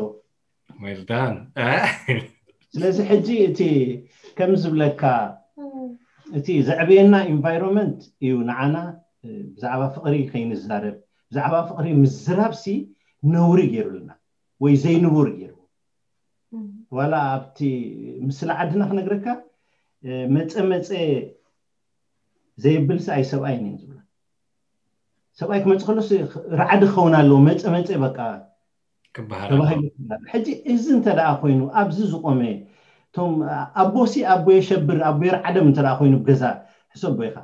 Well done. ስለዚ ሕጂ እቲ ከም ዝብለካ እቲ ዘዕበየና ኢንቫይሮንመንት እዩ ንዓና ብዛዕባ ፍቕሪ ከይንዛረብ። ብዛዕባ ፍቕሪ ምዝራብ ሲ ነውሪ ገይሩልና ወይ ዘይንቡር ገይሩ። ዋላ ኣብቲ ምስላ ዓድና ክነግረካ መፀ መፀ ዘየብል ሲ ኣይ ሰብኣይ ነ ዝብላ። ሰብኣይ ክመፅእ ከሎ ራዕዲ ክኸውን ኣለዎ። መፀ መፀ በቃ ተባሂሉ። ሕጂ እዚ እንተ ደኣ ኮይኑ ኣብዚ ዝቆመ እቶም ኣቦሲ ኣቦ የሸብር ኣቦ የርዓደም እንተ ደኣ ኮይኑ ብገዛ ሕሰቦ ኢኻ።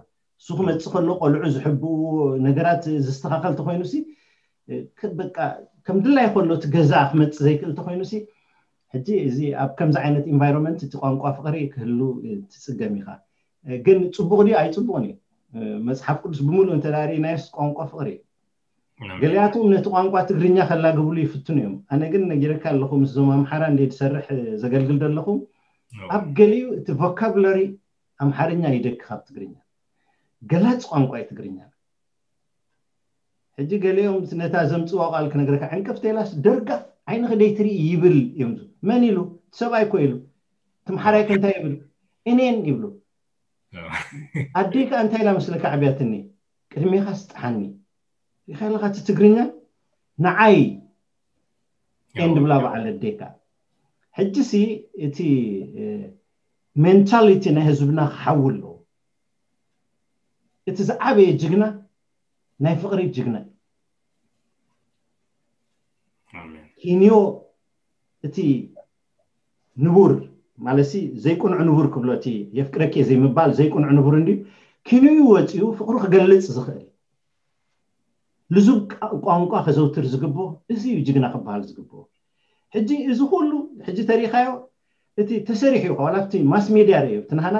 እሱ ክመፅእ ከሎ ቆልዑ ዝሕብኡ ነገራት ዝስተኻኸል ተኮይኑ ሲ በቃ ከም ድላይ ከሎ እቲ ገዛ ክመፅእ ዘይክእል ተኮይኑ ሲ ሕጂ እዚ ኣብ ከምዚ ዓይነት ኢንቫይሮንመንት እቲ ቋንቋ ፍቅሪ ክህሉ ትፅገም ኢኻ። ግን ፅቡቅ ድዩ ኣይፅቡቅን እዩ። መፅሓፍ ቅዱስ ብምሉእ እንተ ርኢናዮስ ቋንቋ ፍቅሪ እዩ። ገሊኣቶም ነቲ ቋንቋ ትግርኛ ከላግብሉ ይፍትኑ እዮም። ኣነ ግን ነጊረካ ኣለኹ ምስዞም ኣምሓራ እንደ ዝሰርሕ ዘገልግል ዘለኹ ኣብ ገሊኡ እቲ ቮካብለሪ ኣምሓርኛ ይደኪ ካብ ትግርኛ። ገላፂ ቋንቋ እዩ ትግርኛ። ሕጂ ገሊኦም ነታ ዘምፅዋ ቃል ክነግረካ ዕንቅፍቲ ኢላስ ደርጋፍ ዓይንኺ ደይትርኢ ይብል እዮም። መን ኢሉ? ሰብኣይ እኮ ኢሉ። ትምሓራይ ከ እንታይ ይብል? እኔን ይብሉ። ኣደይ ከ እንታይ ኢላ መስለካ ዕብያትኒ? ቅድሜኻ ስጥሓኒ ኢኻ ኢለካ እቲ ትግርኛ ንዓይ ኤን ድብላ በዓል ኣደይካ። ሕጂ ሲ እቲ ሜንታሊቲ ናይ ህዝብና ክሓዊ ኣለዎ። እቲ ዝዓበየ ጅግና ናይ ፍቕሪ ጅግና እዩ። ኪንዮ እቲ ንቡር ማለት ሲ ዘይቅኑዕ ንቡር ክብሎ እቲ የፍቅረኪ ዘይምባል ዘይቅኑዕ ንቡር እንድዩ። ኪንዩ ወፂኡ ፍቕሩ ክገልፅ ዝኽእል ልዙብ ቋንቋ ከዘውትር ዝግብኦ እዚ እዩ ጅግና ክበሃል ዝግብኦ። ሕጂ እዚ ኩሉ ሕጂ ተሪኻዮ እቲ ተሰሪሑ እዩ ዋላ ኣብቲ ማስ ሜድያ ርእዮ እቲ ናህና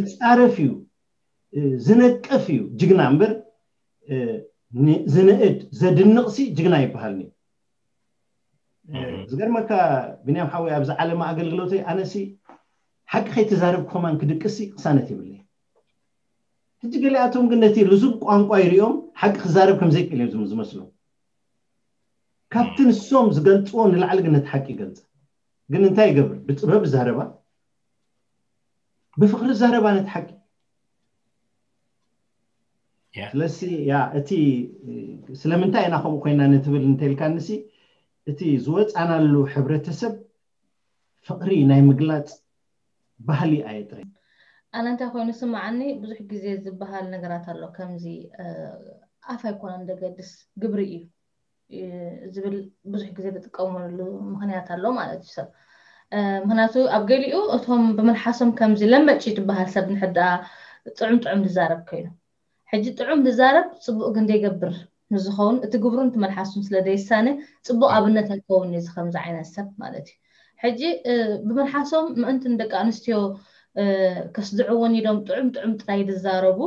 ዝፃረፍ እዩ ዝነቅፍ እዩ ጅግና እምበር ዝንእድ ዘድንቕሲ ጅግና ይበሃል። ዝገርመካ ብንያም ሓወይ ኣብዚ ዓለማ ኣገልግሎተይ ኣነሲ ሓቂ ከይተዛረብ ኮማን ክድቅሲ ቅሳነት ይብለይ። ሕጂ ገሊኣቶም ግን ነቲ ልዙብ ቋንቋ ይሪኦም ሓቂ ክዛረብ ከም ዘይክእል እዮም ዝመስሎም። ካብቲ ንሶም ዝገልፅዎ ንላዕሊ ግን ነቲ ሓቂ ይገልፅ። ግን እንታይ ይገብር? ብጥበብ ዛረባ ብፍቕሪ ዛረባ ነቲ ሓቂ ስለሲ ያ እቲ ስለምንታይ ኢና ከምኡ ኮይና ንትብል እንተልካንሲ እቲ ዝወፃናሉ ሕብረተሰብ ፍቕሪ ናይ ምግላፅ ባህሊ ኣየጥረይ። ኣነ እንታይ ኮይኑ ስምዓኒ ብዙሕ ግዜ ዝበሃል ነገራት ኣሎ ከምዚ ኣፍ ኣይኮነን ደገድስ ግብሪ እዩ ዝብል ብዙሕ ግዜ ዝጥቀመሉ ምክንያት ኣሎ ማለት እዩ ሰብ ምክንያቱ ኣብ ገሊኡ እቶም ብምልሓሶም ከምዚ ለመጭ ትበሃል ሰብ ንሕዳ ጥዑም ጥዑም ዝዛረብ ኮይኑ ሕጂ ጥዑም ዝዛረብ ፅቡቅ ግን ዘይገብር ንዝኸውን እቲ ግብሩን እቲ መልሓሱን ስለ ዘይሳነ ፅቡቅ ኣብነት ኣይከውን እዚ ከምዚ ዓይነት ሰብ ማለት እዩ ሕጂ ብመልሓሶም ምእንቲ ንደቂ ኣንስትዮ ከስድዕወን ኢሎም ጥዑም ጥዑም ጥራይ ዝዛረቡ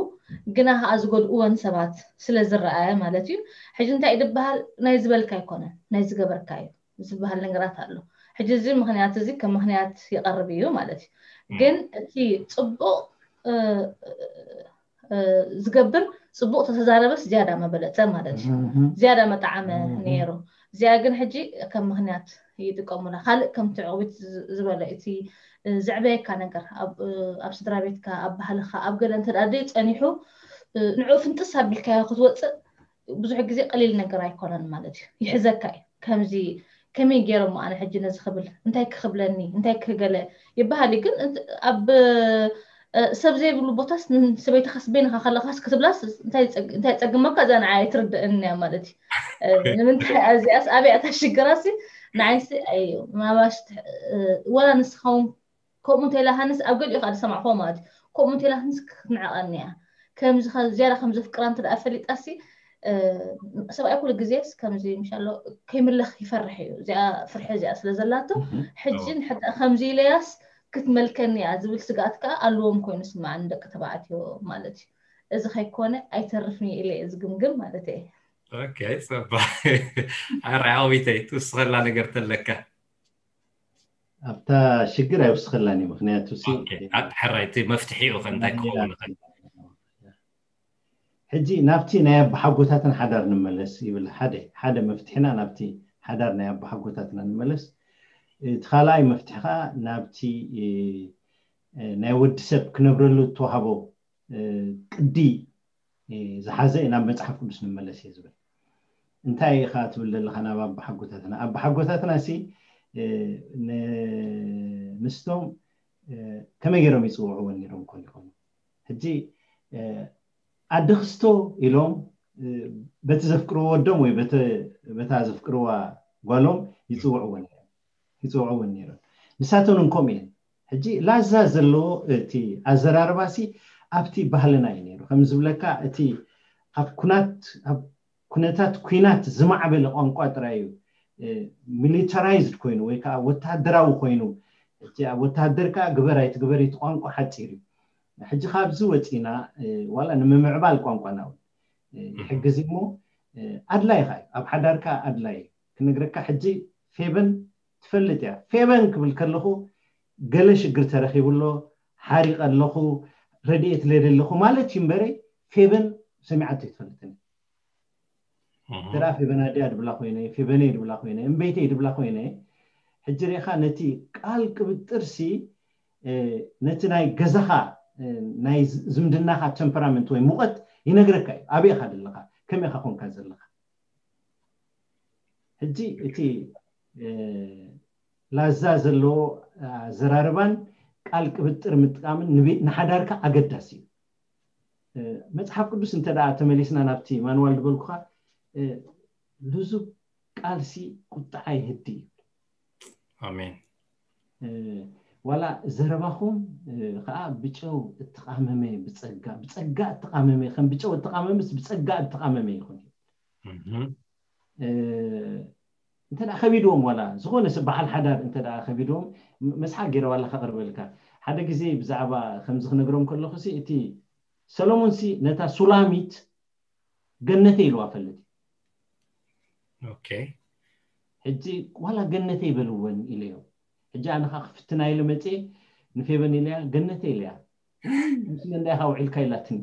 ግና ከዓ ዝጎድእወን ሰባት ስለ ዝረኣየ ማለት እዩ ሕጂ እንታይ ዝበሃል ናይ ዝበልካ ኣይኮነን ናይ ዝገበርካ እዩ ዝበሃል ነገራት ኣሎ ሕጂ እዚ ምክንያት እዚ ከም ምክንያት ይቀርብ እዩ ማለት እዩ ግን እቲ ፅቡቅ ዝገብር ፅቡቅ ተተዛረበስ ዝያዳ መበለፀ ማለት እዩ ዝያዳ መጣዓመ ነይሩ እዚኣ ግን ሕጂ ከም ምኽንያት ይጥቀሙላ። ካልእ ከምቲ ዕቑቢት ዝበለ እቲ ዘዕበየካ ነገር ኣብ ስድራ ቤትካ፣ ኣብ ባህልኻ፣ ኣብ ገለ እንተ ደኣ ጸኒሑ ንዕኡ ፍንጥስ ኣቢልካዮ ክትወፅእ ብዙሕ ግዜ ቀሊል ነገር ኣይኮነን ማለት እዩ። ይሕዘካ እዩ። ከምዚ ከመይ ገይሮም ኣነ ሕጂ ነዚ ክብል እንታይ ክኽብለኒ እንታይ ክገለ ይበሃል እዩ። ግን ኣብ ሰብ ዘይብሉ ቦታስ ሰበይትኻስ በይንኻ ከለኻስ ክትብላስ እንታይ ፀግመካ እዛ ንዓ ኣይትርድእን እያ ማለት እዩ። ንምንታይ እዚኣስ ኣበይ ኣታ ሽግራሲ ንዓይሲ እዩ ማባሽ ወላ ንስኻውን ከምኡ እንተ ኢላ ሃንስ ኣብ ገሊኡ ከዓ ዝሰማዕክዎ ማለት እዩ። ከምኡ እንተ ኢላ ሃንስ ክትንዕቐኒ እያ። ከምዚ ዝያዳ ከም ዘፍቅራ እንተ ደኣ ፈሊጣሲ ሰብኣይ ኩሉ ግዜስ ከምዚ ምሻሎ ከይምለኽ ይፈርሕ እዩ። እዚኣ ፍርሒ እዚኣ ስለ ዘላቶ ሕጂ ንሕዳ ከምዚ ኢለያስ ክትመልከኒ እያ ዝብል ስግኣት ከዓ ኣለዎም ኮይኑ ስምዓኒ ደቂ ተባዕትዮ ማለት እዩ። እዚ ከይኮነ ኣይተርፍን እየ ኢለ እየ ዝግምግም ማለት እየ። ኦኬ፣ ፅባሕ ኣረ ዓዊተይ ትውስኸላ ነገር ተለካ ኣብታ ሽግር ኣይውስኸላን እዩ። ምክንያቱ ሕራይ እቲ መፍትሒኡ ከ እንታይ ክኸውን ይኽእል? ሕጂ ናብቲ ናይ ኣባሓጎታትና ሓዳር ንመለስ ይብል። ሓደ ሓደ መፍትሒና ናብቲ ሓዳር ናይ ኣባሓጎታትና ንመለስ። እቲ ካልኣይ መፍትሒ ከዓ ናብቲ ናይ ወዲ ሰብ ክነብረሉ እተዋህቦ ቅዲ ዝሓዘ ናብ መፅሓፍ ቅዱስ ንመለስ እየ ዝብል። እንታይ ኢኻ ትብል ዘለኻ ናብ ኣባሓጎታትና? ኣባሓጎታትና ሲ ንስቶም ከመይ ገይሮም ይፅውዕወን ነይሮም ኮን ይኾኑ? ሕጂ ኣደ ክስቶ ኢሎም በቲ ዘፍቅርዎ ወዶም ወይ በታ ዘፍቅርዋ ጓሎም ይፅውዕወን ነይሮም። ይፅውዕወን ነይሮም። ንሳተን እንኮም እየን። ሕጂ ላዛ ዘለዎ እቲ ኣዘራርባ ሲ ኣብቲ ባህልና እዩ ነይሩ። ከም ዝብለካ እቲ ኣብ ኩናት ኣብ ኩነታት ኩናት ዝማዕበለ ቋንቋ ጥራይ እዩ ሚሊታራይዝድ ኮይኑ ወይ ከዓ ወታደራዊ ኮይኑ እቲ ኣብ ወታደር ከዓ ግበር ኣይትግበር እቲ ቋንቋ ሓፂር እዩ። ሕጂ ካብዚ ወፂና ዋላ ንምምዕባል ቋንቋና እውን ይሕግዝ እሞ ኣድላይ ካ ኣብ ሓዳርካ ኣድላይ ክነግረካ ሕጂ ፌበን ትፈልጥ እያ። ፌበን ክብል ከለኹ ገለ ሽግር ተረኺቡ ኣሎ፣ ሓሪቐ ኣለኹ፣ ረድኤት ለደ ኣለኹ ማለት እዩ እምበረ ፌበን ሰሚዓቶ ይትፈልጥን። ተራ ፌበን ኣድያ ድብላ ኮይነ፣ ፌበነይ ድብላ ኮይነ፣ እምበይተይ ድብላ ኮይነ፣ ሕጂ ሪኢኻ ነቲ ቃል ቅብጥር ሲ ነቲ ናይ ገዛኻ ናይ ዝምድናኻ ተምፐራመንት ወይ ሙቐት ይነግረካ እዩ። ኣበይ ኢኻ ዘለኻ፣ ከመይ ኢኻ ኮንካ ዘለኻ። ሕጂ እቲ ላዛ ዘለዎ ኣዘራርባን ቃል ቅብጥር ምጥቃምን ንሓዳርካ ኣገዳሲ እዩ። መፅሓፍ ቅዱስ እንተ ደኣ ተመሊስና ናብቲ ማንዋል ዝበልኩኻ ልዙብ ቃልሲ ቁጥዓ ይህዲ ይብል። ኣሜን። ዋላ ዘረባኹም ከዓ ብጨው እተቃመመ ብፀጋ ብፀጋ እተቃመመ ከም ብጨው እተቃመመስ ብፀጋ እተቃመመ ይኹን ይብል። እንተ ከቢድዎም ዋላ ዝኾነ ሰብ በዓል ሓዳር እንተ ከቢድዎም መስሓቅ ገይረ ዋላ ከቅርበልካ ሓደ ግዜ ብዛዕባ ከምዚ ክነግሮም ከለኹ እቲ ሰሎሞን ሲ ነታ ሱላሚት ገነተ ኢልዋ ፈልጥ ሕጂ ዋላ ገነተ ይበልወን ኢለዮ። ሕጂ ኣነ ከዓ ክፍትና ኢለ መፅየ ንፌበን ኢለያ ገነተ ኢለያ ምስ መንዳይ ከዓ ውዒልካ ኢላትኒ።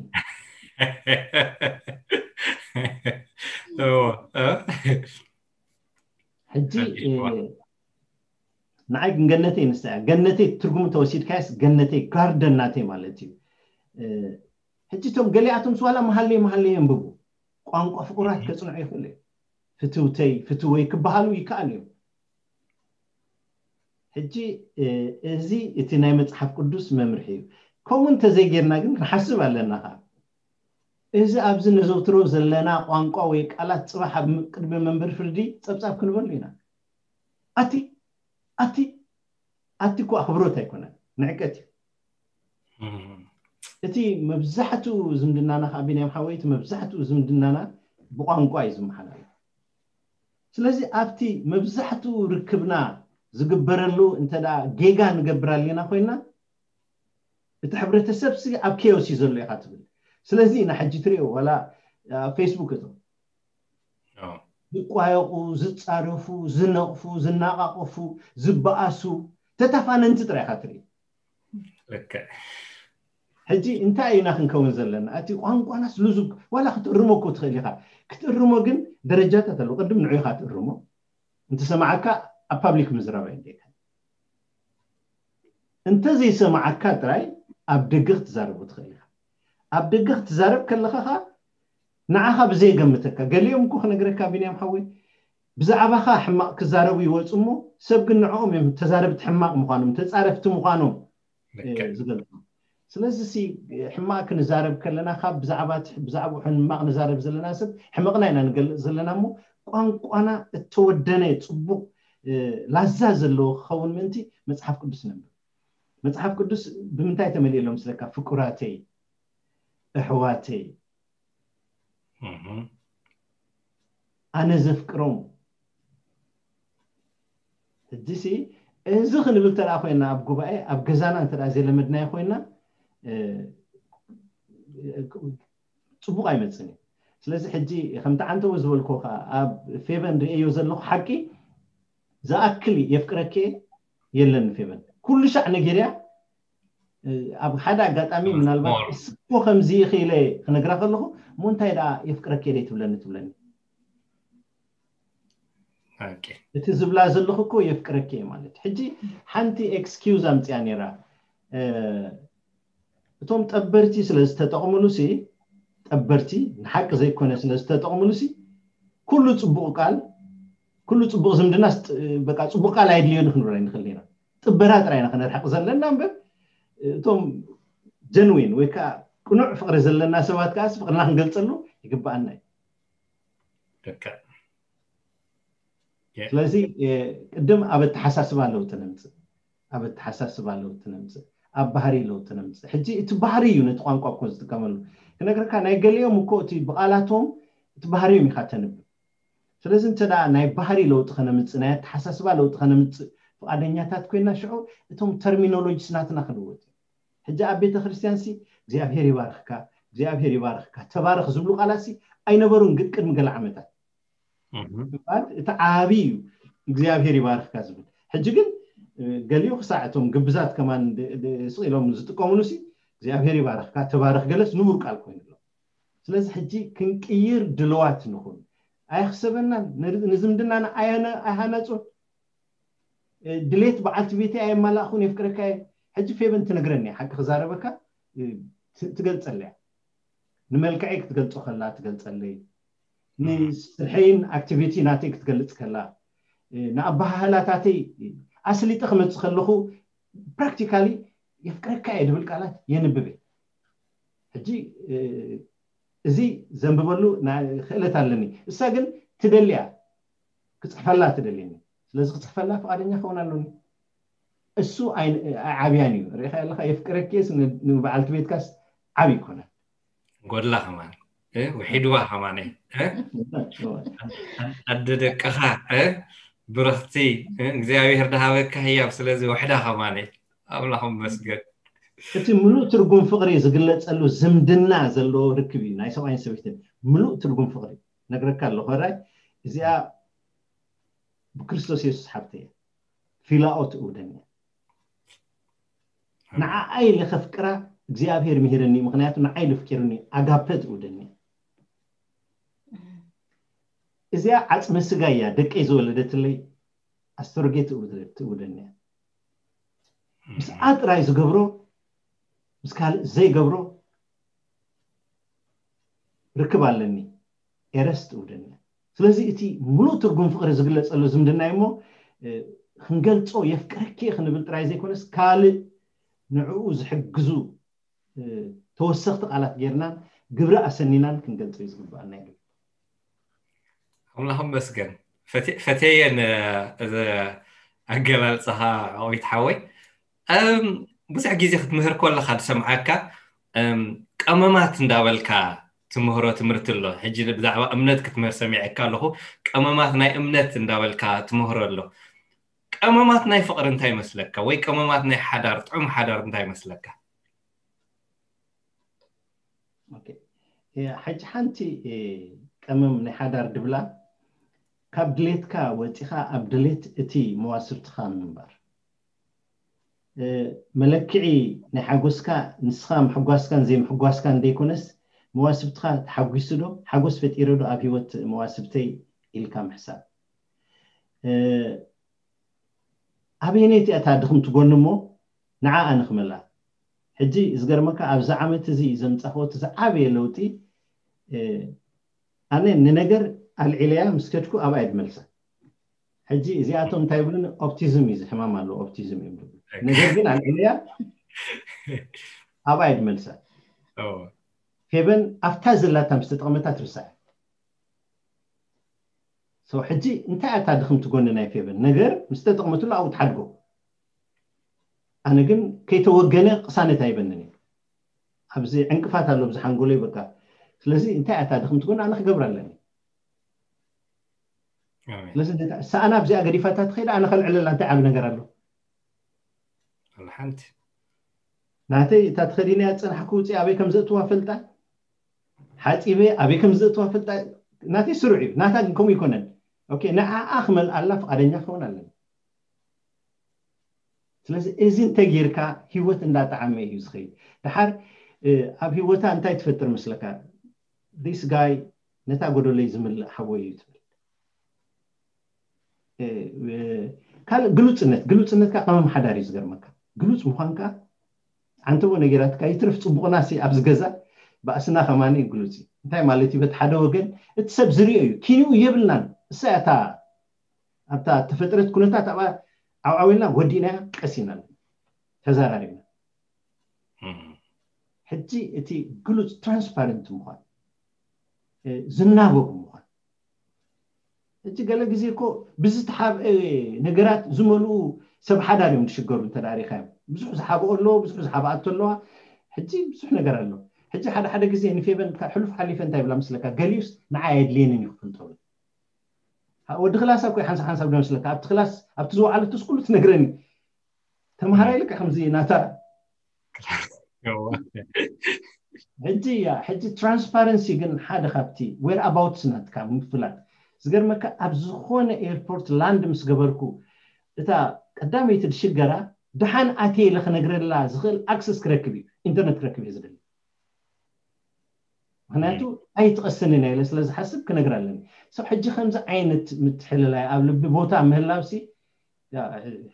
ሕጂ ንዓይ ግን ገነተይ ንሳ እያ። ገነተይ ትርጉሙ ተወሲድካያስ ገነተይ ጋርደን ናተይ ማለት እዩ። ሕጂ እቶም ገሊኣቶም ስዋላ መሃለይ መሃለይ የንብቡ ቋንቋ ፍቁራት ከፅንዑ ይኽእሉ እዮም። ፍትውተይ ፍትወይ ክበሃሉ ይከኣሉ እዮም። ሕጂ እዚ እቲ ናይ መፅሓፍ ቅዱስ መምርሒ እዩ። ከምኡ እንተዘይጌርና ግን ንሓስብ ኣለና ከዓ እዚ ኣብዚ ነዘውትሮ ዘለና ቋንቋ ወይ ቃላት ፅባሕ ኣብ ቅድሚ መንበር ፍርዲ ፀብፃብ ክንበሉ ኢና። ኣቲ ኣቲ ኣቲ እኮ ኣኽብሮት ኣይኮነን ንዕቀት እዩ። እቲ መብዛሕትኡ ዝምድናና ከዓ ቢንያም ሓወይ እቲ መብዛሕትኡ ዝምድናና ብቋንቋ እዩ ዝመሓላለፍ። ስለዚ ኣብቲ መብዛሕትኡ ርክብና ዝግበረሉ እንተ ጌጋ ንገብር ኣለና ኮይና እቲ ሕብረተሰብ ሲ ኣብ ኬዮስ እዩ ዘሎ ኢኻ ትብል። ስለዚ ኢና ሕጂ ትሪኦ ዋላ ፌስቡክ እቶም ዝቋየቁ ዝፃረፉ ዝነቕፉ ዝናቃቆፉ ዝበኣሱ ተታፋነንቲ ጥራይ ኢኻ ትርኢ። ሕጂ እንታይ ኢና ክንከውን ዘለና? እቲ ቋንቋናስ ልዙብ ዋላ ክትእርሞ እኮ ትኽእል ኢኻ። ክትእርሞ ግን ደረጃታት ኣለዉ። ቅድም ንዑ ኢኻ ትእርሞ። እንተሰማዓካ ኣብ ፓብሊክ ምዝራብ ኣይደካ። እንተዘይሰማዓካ ጥራይ ኣብ ደገ ክትዛረቡ ትኽእል ኢኻ። ኣብ ደገ ክትዛረብ ከለኻ ኸዓ ንዓኻ ብዘይገምተካ፣ ገሊኦም እኮ ክነግረካ ቢንያም ሓወይ፣ ብዛዕባኻ ሕማቕ ክዛረቡ ይወፁ እሞ ሰብ ግን ንዕኦም እዮም ተዛረብቲ ሕማቕ ምዃኖም፣ ተፃረፍቲ ምዃኖም ዝገልፁ። ስለዚ ሲ ሕማቕ ክንዛረብ ከለና ካብ ብዛዕባ ብዛዕባ ሕማቕ ንዛረብ ዘለና ሰብ ሕመቕና ኢና ንገልፅ ዘለና እሞ ቋንቋና እተወደነ ፅቡቕ ላዛ ዘለዎ ክኸውን ምእንቲ መፅሓፍ ቅዱስ ነንብብ። መፅሓፍ ቅዱስ ብምንታይ ተመሊእሎም ስለካ? ፍቁራተይ፣ ኣሕዋተይ፣ ኣነ ዘፍቅሮም። ሕጂሲ እዚ ክንብል ተደኣ ኮይና ኣብ ጉባኤ ኣብ ገዛና እንተ ዘይለመድናዮ ኮይና ፅቡቕ ኣይመፅን እዩ። ስለዚ ሕጂ ከምቲ ዓንተቦ ዝበልኩ ከዓ ኣብ ፌቨን ርእዮ ዘለኹ ሓቂ ዝኣክል የፍቅረኪ የለን ፌቨን ኩሉ ሻዕ ነጌርያ ኣብ ሓደ ኣጋጣሚ ምናልባት እስኮ ከምዚ ኢኺ ኢለ ክነግራ ከለኹ እሞ እንታይ ደኣ የፍቅረኪ ደይ ትብለኒ ትብለኒ። እቲ ዝብላ ዘለኹ እኮ የፍቅረኪ እየ ማለት። ሕጂ ሓንቲ ኤክስኪውዝ ኣምፅያ ነይራ። እቶም ጠበርቲ ስለ ዝተጠቕምሉ ሲ ጠበርቲ ንሓቂ ዘይኮነ ስለ ዝተጠቕምሉ ሲ ኩሉ ፅቡቕ ቃል ኩሉ ፅቡቕ ዝምድና በቃ ፅቡቕ ቃል ኣይድልዮን ክንብል ኣይንኽእል ኢና። ጥበራ ጥራይ ኢና ክነርሕቕ ዘለና እምበር እቶም ጀንዊን ወይ ከዓ ቅኑዕ ፍቕሪ ዘለና ሰባት ከዓ ፍቕርና ክንገልፀሉ ይግበኣና እዩ። ስለዚ ቅድም ኣብ ኣተሓሳስባ ለውጢ ነምፅእ ኣብ ኣተሓሳስባ ለውጢ ነምፅእ ኣብ ባህሪ ለውጢ ነምፅእ። ሕጂ እቲ ባህሪ እዩ ነቲ ቋንቋ እኮ ዝጥቀመሉ። ክነግረካ ናይ ገሊኦም እኮ እቲ ብቓላቶም እቲ ባህሪዮም ኢኻ ተንብብ። ስለዚ እንተ ናይ ባህሪ ለውጢ ከነምፅእ ናይ ኣተሓሳስባ ለውጢ ከነምፅእ ፍቓደኛታት ኮይና ሽዑ እቶም ተርሚኖሎጂስ ናትና ክልወጥ እዩ። ሕጂ ኣብ ቤተ ክርስቲያን ሲ እግዚኣብሔር ይባርኽካ እግዚኣብሔር ይባርኽካ ተባረኽ ዝብሉ ቃላት ሲ ኣይነበሩን ግን ቅድሚ ገለ ዓመታት እምበኣር እቲ ዓብዪ እዩ እግዚኣብሔር ይባርኽካ ዝብል። ሕጂ ግን ገሊኡ ክሳዕ እቶም ግብዛት ከማን ስቕ ኢሎም ዝጥቀምሉ ሲ እግዚኣብሔር ይባርኽካ ተባረኽ ገለስ ንቡር ቃል ኮይኑ ኣሎ። ስለዚ ሕጂ ክንቅይር ድልዋት ንኹን። ኣየኽሰበናን ንዝምድናና ኣይሃነፁን። ድሌት በዓልቲ ቤተይ ኣየማላእኹን የፍቅረካ እየ። ሕጂ ፌቨን ትነግረኒ ሓቂ ክዛረበካ ትገልፀለያ ንመልክዐይ ክትገልፆ ከላ ትገልፀለይ ንስርሐይን ኣክቲቪቲ ናተይ ክትገልፅ ከላ ንኣበሃህላታተይ ኣስሊጠ ክመፅእ ከለኹ ፕራክቲካሊ የፍቅረካ እየ ድብል ቃላት የንብብ እየ። ሕጂ እዚ ዘንብበሉ ክእለት ኣለኒ። እሳ ግን ትደልያ ክፅሕፈላ ትደልየኒ። ስለዚ ክፅሕፈላ ፍቓደኛ ክኸውን ኣለኒ። እሱ ኣይዓብያን እዩ። ርኢኻ ኣለኻ የፍቅረኪስ ንበዓልቲ ቤትካስ ዓብ ይኮነ። ጎድላ ከማን ውሒድዋ ከማነ ኣደ ደቅኻ ብረኽቲ እግዚኣብሔር ድሃበካ ህያብ ስለዚ ውሕዳ ከማነ ኣምላኽ መስገን። እቲ ምሉእ ትርጉም ፍቕሪ ዝግለፀሉ ዝምድና ዘለዎ ርክብ እዩ ናይ ሰብኣይን ሰበይትን ምሉእ ትርጉም ፍቕሪ ነግረካ ኣለኹ። ራይ እዚኣ ብክርስቶስ የሱስ ሓብተ እያ። ፊላኦ ትእውደኒ እያ። ንዓኣ ኢለ ከፍቅራ እግዚኣብሔር ምሂረኒ፣ ምኽንያቱ ንዓይ ኢሉ ኣፍቂሩኒ። ኣጋፐ ትእውደኒ እያ። እዚኣ ዓፅመ ስጋ እያ ደቀይ ዝወለደትለይ ኣስተርጌ ትእውደኒ እያ። ምስኣ ጥራይ ዝገብሮ ምስ ካልእ ዘይገብሮ ርክብ ኣለኒ። ኤረስ ትእውደኒ እያ። ስለዚ እቲ ሙሉእ ትርጉም ፍቕሪ ዝግለፀሉ ዝምድና እዩ እሞ ክንገልፆ የፍቅረኪ ክንብል ጥራይ ዘይኮነስ ካልእ ንዕኡ ዝሕግዙ ተወሰኽቲ ቃላት ጌርናን ግብሪ ኣሰኒናን ክንገልፆ እዩ ዝግበኣና እዩ። ኣምላኽ መስገን ፈተየን ኣገላልፃኻ ኦዊት ሓወይ። ብዙሕ ግዜ ክትምህር ከለኻ ዝሰምዓካ ቀመማት እንዳበልካ ትምህሮ ትምህርቲ ኣሎ። ሕጂ ብዛዕባ እምነት ክትምህር ሰሚዐካ ኣለኹ። ቀመማት ናይ እምነት እንዳበልካ ትምህሮ ኣሎ። ቀመማት ናይ ፍቕሪ እንታይ ይመስለካ? ወይ ቀመማት ናይ ሓዳር ጥዑም ሓዳር እንታይ ይመስለካ? ሕጂ ሓንቲ ቀመም ናይ ሓዳር ድብላ ካብ ድሌትካ ወፂኻ ኣብ ድሌት እቲ መዋስብትኻ ምንባር። መለክዒ ናይ ሓጎስካ ንስኻ ምሕጓስካን ዘይምሕጓስካን ዘይኮነስ መዋስብትኻ ተሓጒሱ ዶ ሓጎስ ፈጢረ ዶ ኣብ ህይወት መዋስብተይ ኢልካ ምሕሳብ። ኣበየነይቲ እታ ድኽምቲ ጎኒ እሞ ንዓኣ ንኽመላ። ሕጂ ዝገርመካ ኣብዚ ዓመት እዚ ዘምፃኽዎ እቲ ዝዓበየ ለውጢ፣ ኣነ ንነገር ኣልዒለያ ምስ ከድኩ ኣብኣ ድመልሳ። ሕጂ እዚኣቶም እንታይ ይብሉን፣ ኦፕቲዝም እዩ፣ ዝሕማም ኣለዎ፣ ኦፕቲዝም እዮም ዝብሉ። ነገር ግን ኣልዒለያ ኣብኣ ድመልሳ። ፌበን ኣብታ ዘላታ ምስ ተጠቕመታ ትርሳዕ። ሕጂ እንታይ ኣታ ድኽምቲ ጎኒ ናይ ፌበን ነገር ምስ ተጠቕመትሉ ኣብኡ ትሓድጎ። ኣነ ግን ከይተወገነ ቅሳነት ኣይበንን እዩ። ኣብዚ ዕንቅፋት ኣሎ ብዝሓንጎለይ በቃ። ስለዚ እንታይ ኣታ ድኽምቲ ጎኒ ኣነ ክገብር ኣለኒ። ስለዚ ሰኣና ኣብዚኣ ገዲፋታ ትኸይድ ኣነ ከልዕለላ እንታይ ዓብ ነገር ኣሎ? ሓንቲ ናተይ እታ ተኸዲነያ ዝፀናሕኩ ውፅእ ኣበይ ከም ዘእትዋ ፈልጣ፣ ሓፂበ ኣበይ ከም ዘእትዋ ፈልጣ። ናተይ ስሩዕ እዩ፣ ናታ ግን ከምኡ ይኮነን። ንዓኣ ክመልኣላ ፍቃደኛ ክኸውን ኣለኒ። ስለዚ እዚ እንተጌርካ ህይወት እንዳጣዓመ እዩ ዝኸይድ። ድሓር ኣብ ህይወታ እንታይ ትፈጥር መስለካ? This guy ነታ ጎደለይ ዝምልእ ሓወይ እዩ ትብል። ካልእ ግሉፅነት፣ ግሉፅነትካ ቀመም ሓዳር እዩ ዝገርመካ። ግሉፅ ምኳንካ፣ ኣንተዎ ነጌራትካ ይትርፍ ፅቡቕና ሲ ኣብዚ ገዛ ባእስና ከማኒ ግሉፅ እዩ። እንታይ ማለት እዩ? በቲ ሓደ ወገን እቲ ሰብ ዝሪኦ እዩ፣ ኪንኡ የብልናን። እሳ እታ ኣብታ ተፈጥረት ኩነታት ኣብኣ ዓውዓዊልና ወዲእናያ ቀሲና ተዘራሪብና። ሕጂ እቲ ግሉፅ ትራንስፓረንት ምኳን፣ ዝናበቡ ምኳን። ሕጂ ገለ ግዜ እኮ ብዝተሓብአ ነገራት ዝመልኡ ሰብ ሓዳር እዮም ዝሽገሩ። እንተ ሪኻዮም ብዙሕ ዝሓብኦ ኣለዎ፣ ብዙሕ ዝሓብኣቶ ኣለዋ። ሕጂ ብዙሕ ነገር ኣሎ። ሕጂ ሓደ ሓደ ግዜ ንፌበን ሕሉፍ ሓሊፈ እንታይ ብላ ምስለካ፣ ገሊኡስ ንዓይ ኣየድልየንን እዩ ክፍልጠሉ። ወዲ ክላሳ እኮ ሓንሳብ ሓንሳብ ዶ መስለካ ኣብቲ ክላስ ኣብቲ ዝወዓለትስ ኩሉ ትነግረኒ። ተምሃራይ ልክዕ ከምዚ ናታ ሕጂ እያ። ሕጂ ትራንስፓረንሲ ግን ሓደ ካብቲ ዌር ኣባውትስ ናትካ ምፍላጥ። ዝገርመካ ኣብ ዝኾነ ኤርፖርት ላንድ ምስ ገበርኩ እታ ቀዳመይቲ ድሽገራ ደሓን ኣትየ ኢለ ክነግረላ ዝኽእል ኣክሰስ ክረክብ እዩ፣ ኢንተርነት ክረክብ እየ ዝደሊ። ምክንያቱ ኣይትቐስንን እያ ኢለ ስለዝሓስብ ክነግር ኣለኒ። ሰብ ሕጂ ከምዚ ዓይነት ምትሕልላይ ኣብ ልቢ ቦታ ምህላውሲ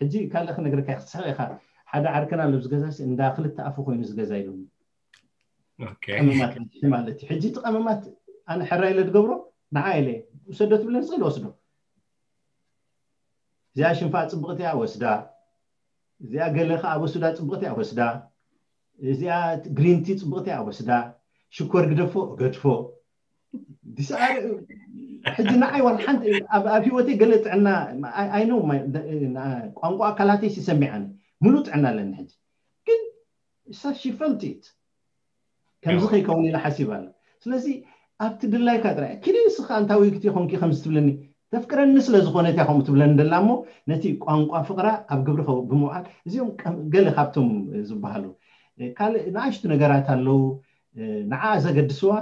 ሕጂ ካልእ ክነግረካ ክትስሕቕ ኢኻ። ሓደ ዓርከና ኣሎ ዝገዛ እንዳ ክልተ ኣፉ ኮይኑ ዝገዛ ኢሉ ቀመማት ማለት እዩ። ሕጂ እቲ ቀመማት ኣነ ሕራ ኢለ ዝገብሮ ንዓ ኢለ ውሰዶ ትብለኒ ስእል ወስዶ። እዚኣ ሽንፋ ፅብቕቲ እያ ወስዳ፣ እዚኣ ገለ ከዓ ወስዳ ፅብቕቲ እያ ወስዳ፣ እዚኣ ግሪንቲ ፅብቕቲ እያ ወስዳ፣ ሽኮር ግደፎ ገድፎ። ሕጂ ንዓይ ዋላ ሓንቲ ኣብ ህይወተይ ገለ ጥዕና ኣይነው ቋንቋ ኣካላተይ ሲሰሚዓኒ ሙሉእ ጥዕና ኣለኒ። ሕጂ ግን she felt it ከምዚ ከይከውን ኢላ ሓሲባ ኣላ። ስለዚ ኣብቲ ድላይካ ጥራይ ኪዲ ንስኻ ኣንታ ወይግቲ ኮንኪ ከምዚ ትብለኒ ተፍቅረኒ ስለ ዝኾነት እያ ከምኡ ትብለኒ ደላ እሞ ነቲ ቋንቋ ፍቕራ ኣብ ግብሪ ከው ብምውዓል እዚኦም ገለ ካብቶም ዝበሃሉ ካልእ ንኣሽቱ ነገራት ኣለዉ ንዓ ዘገድስዋ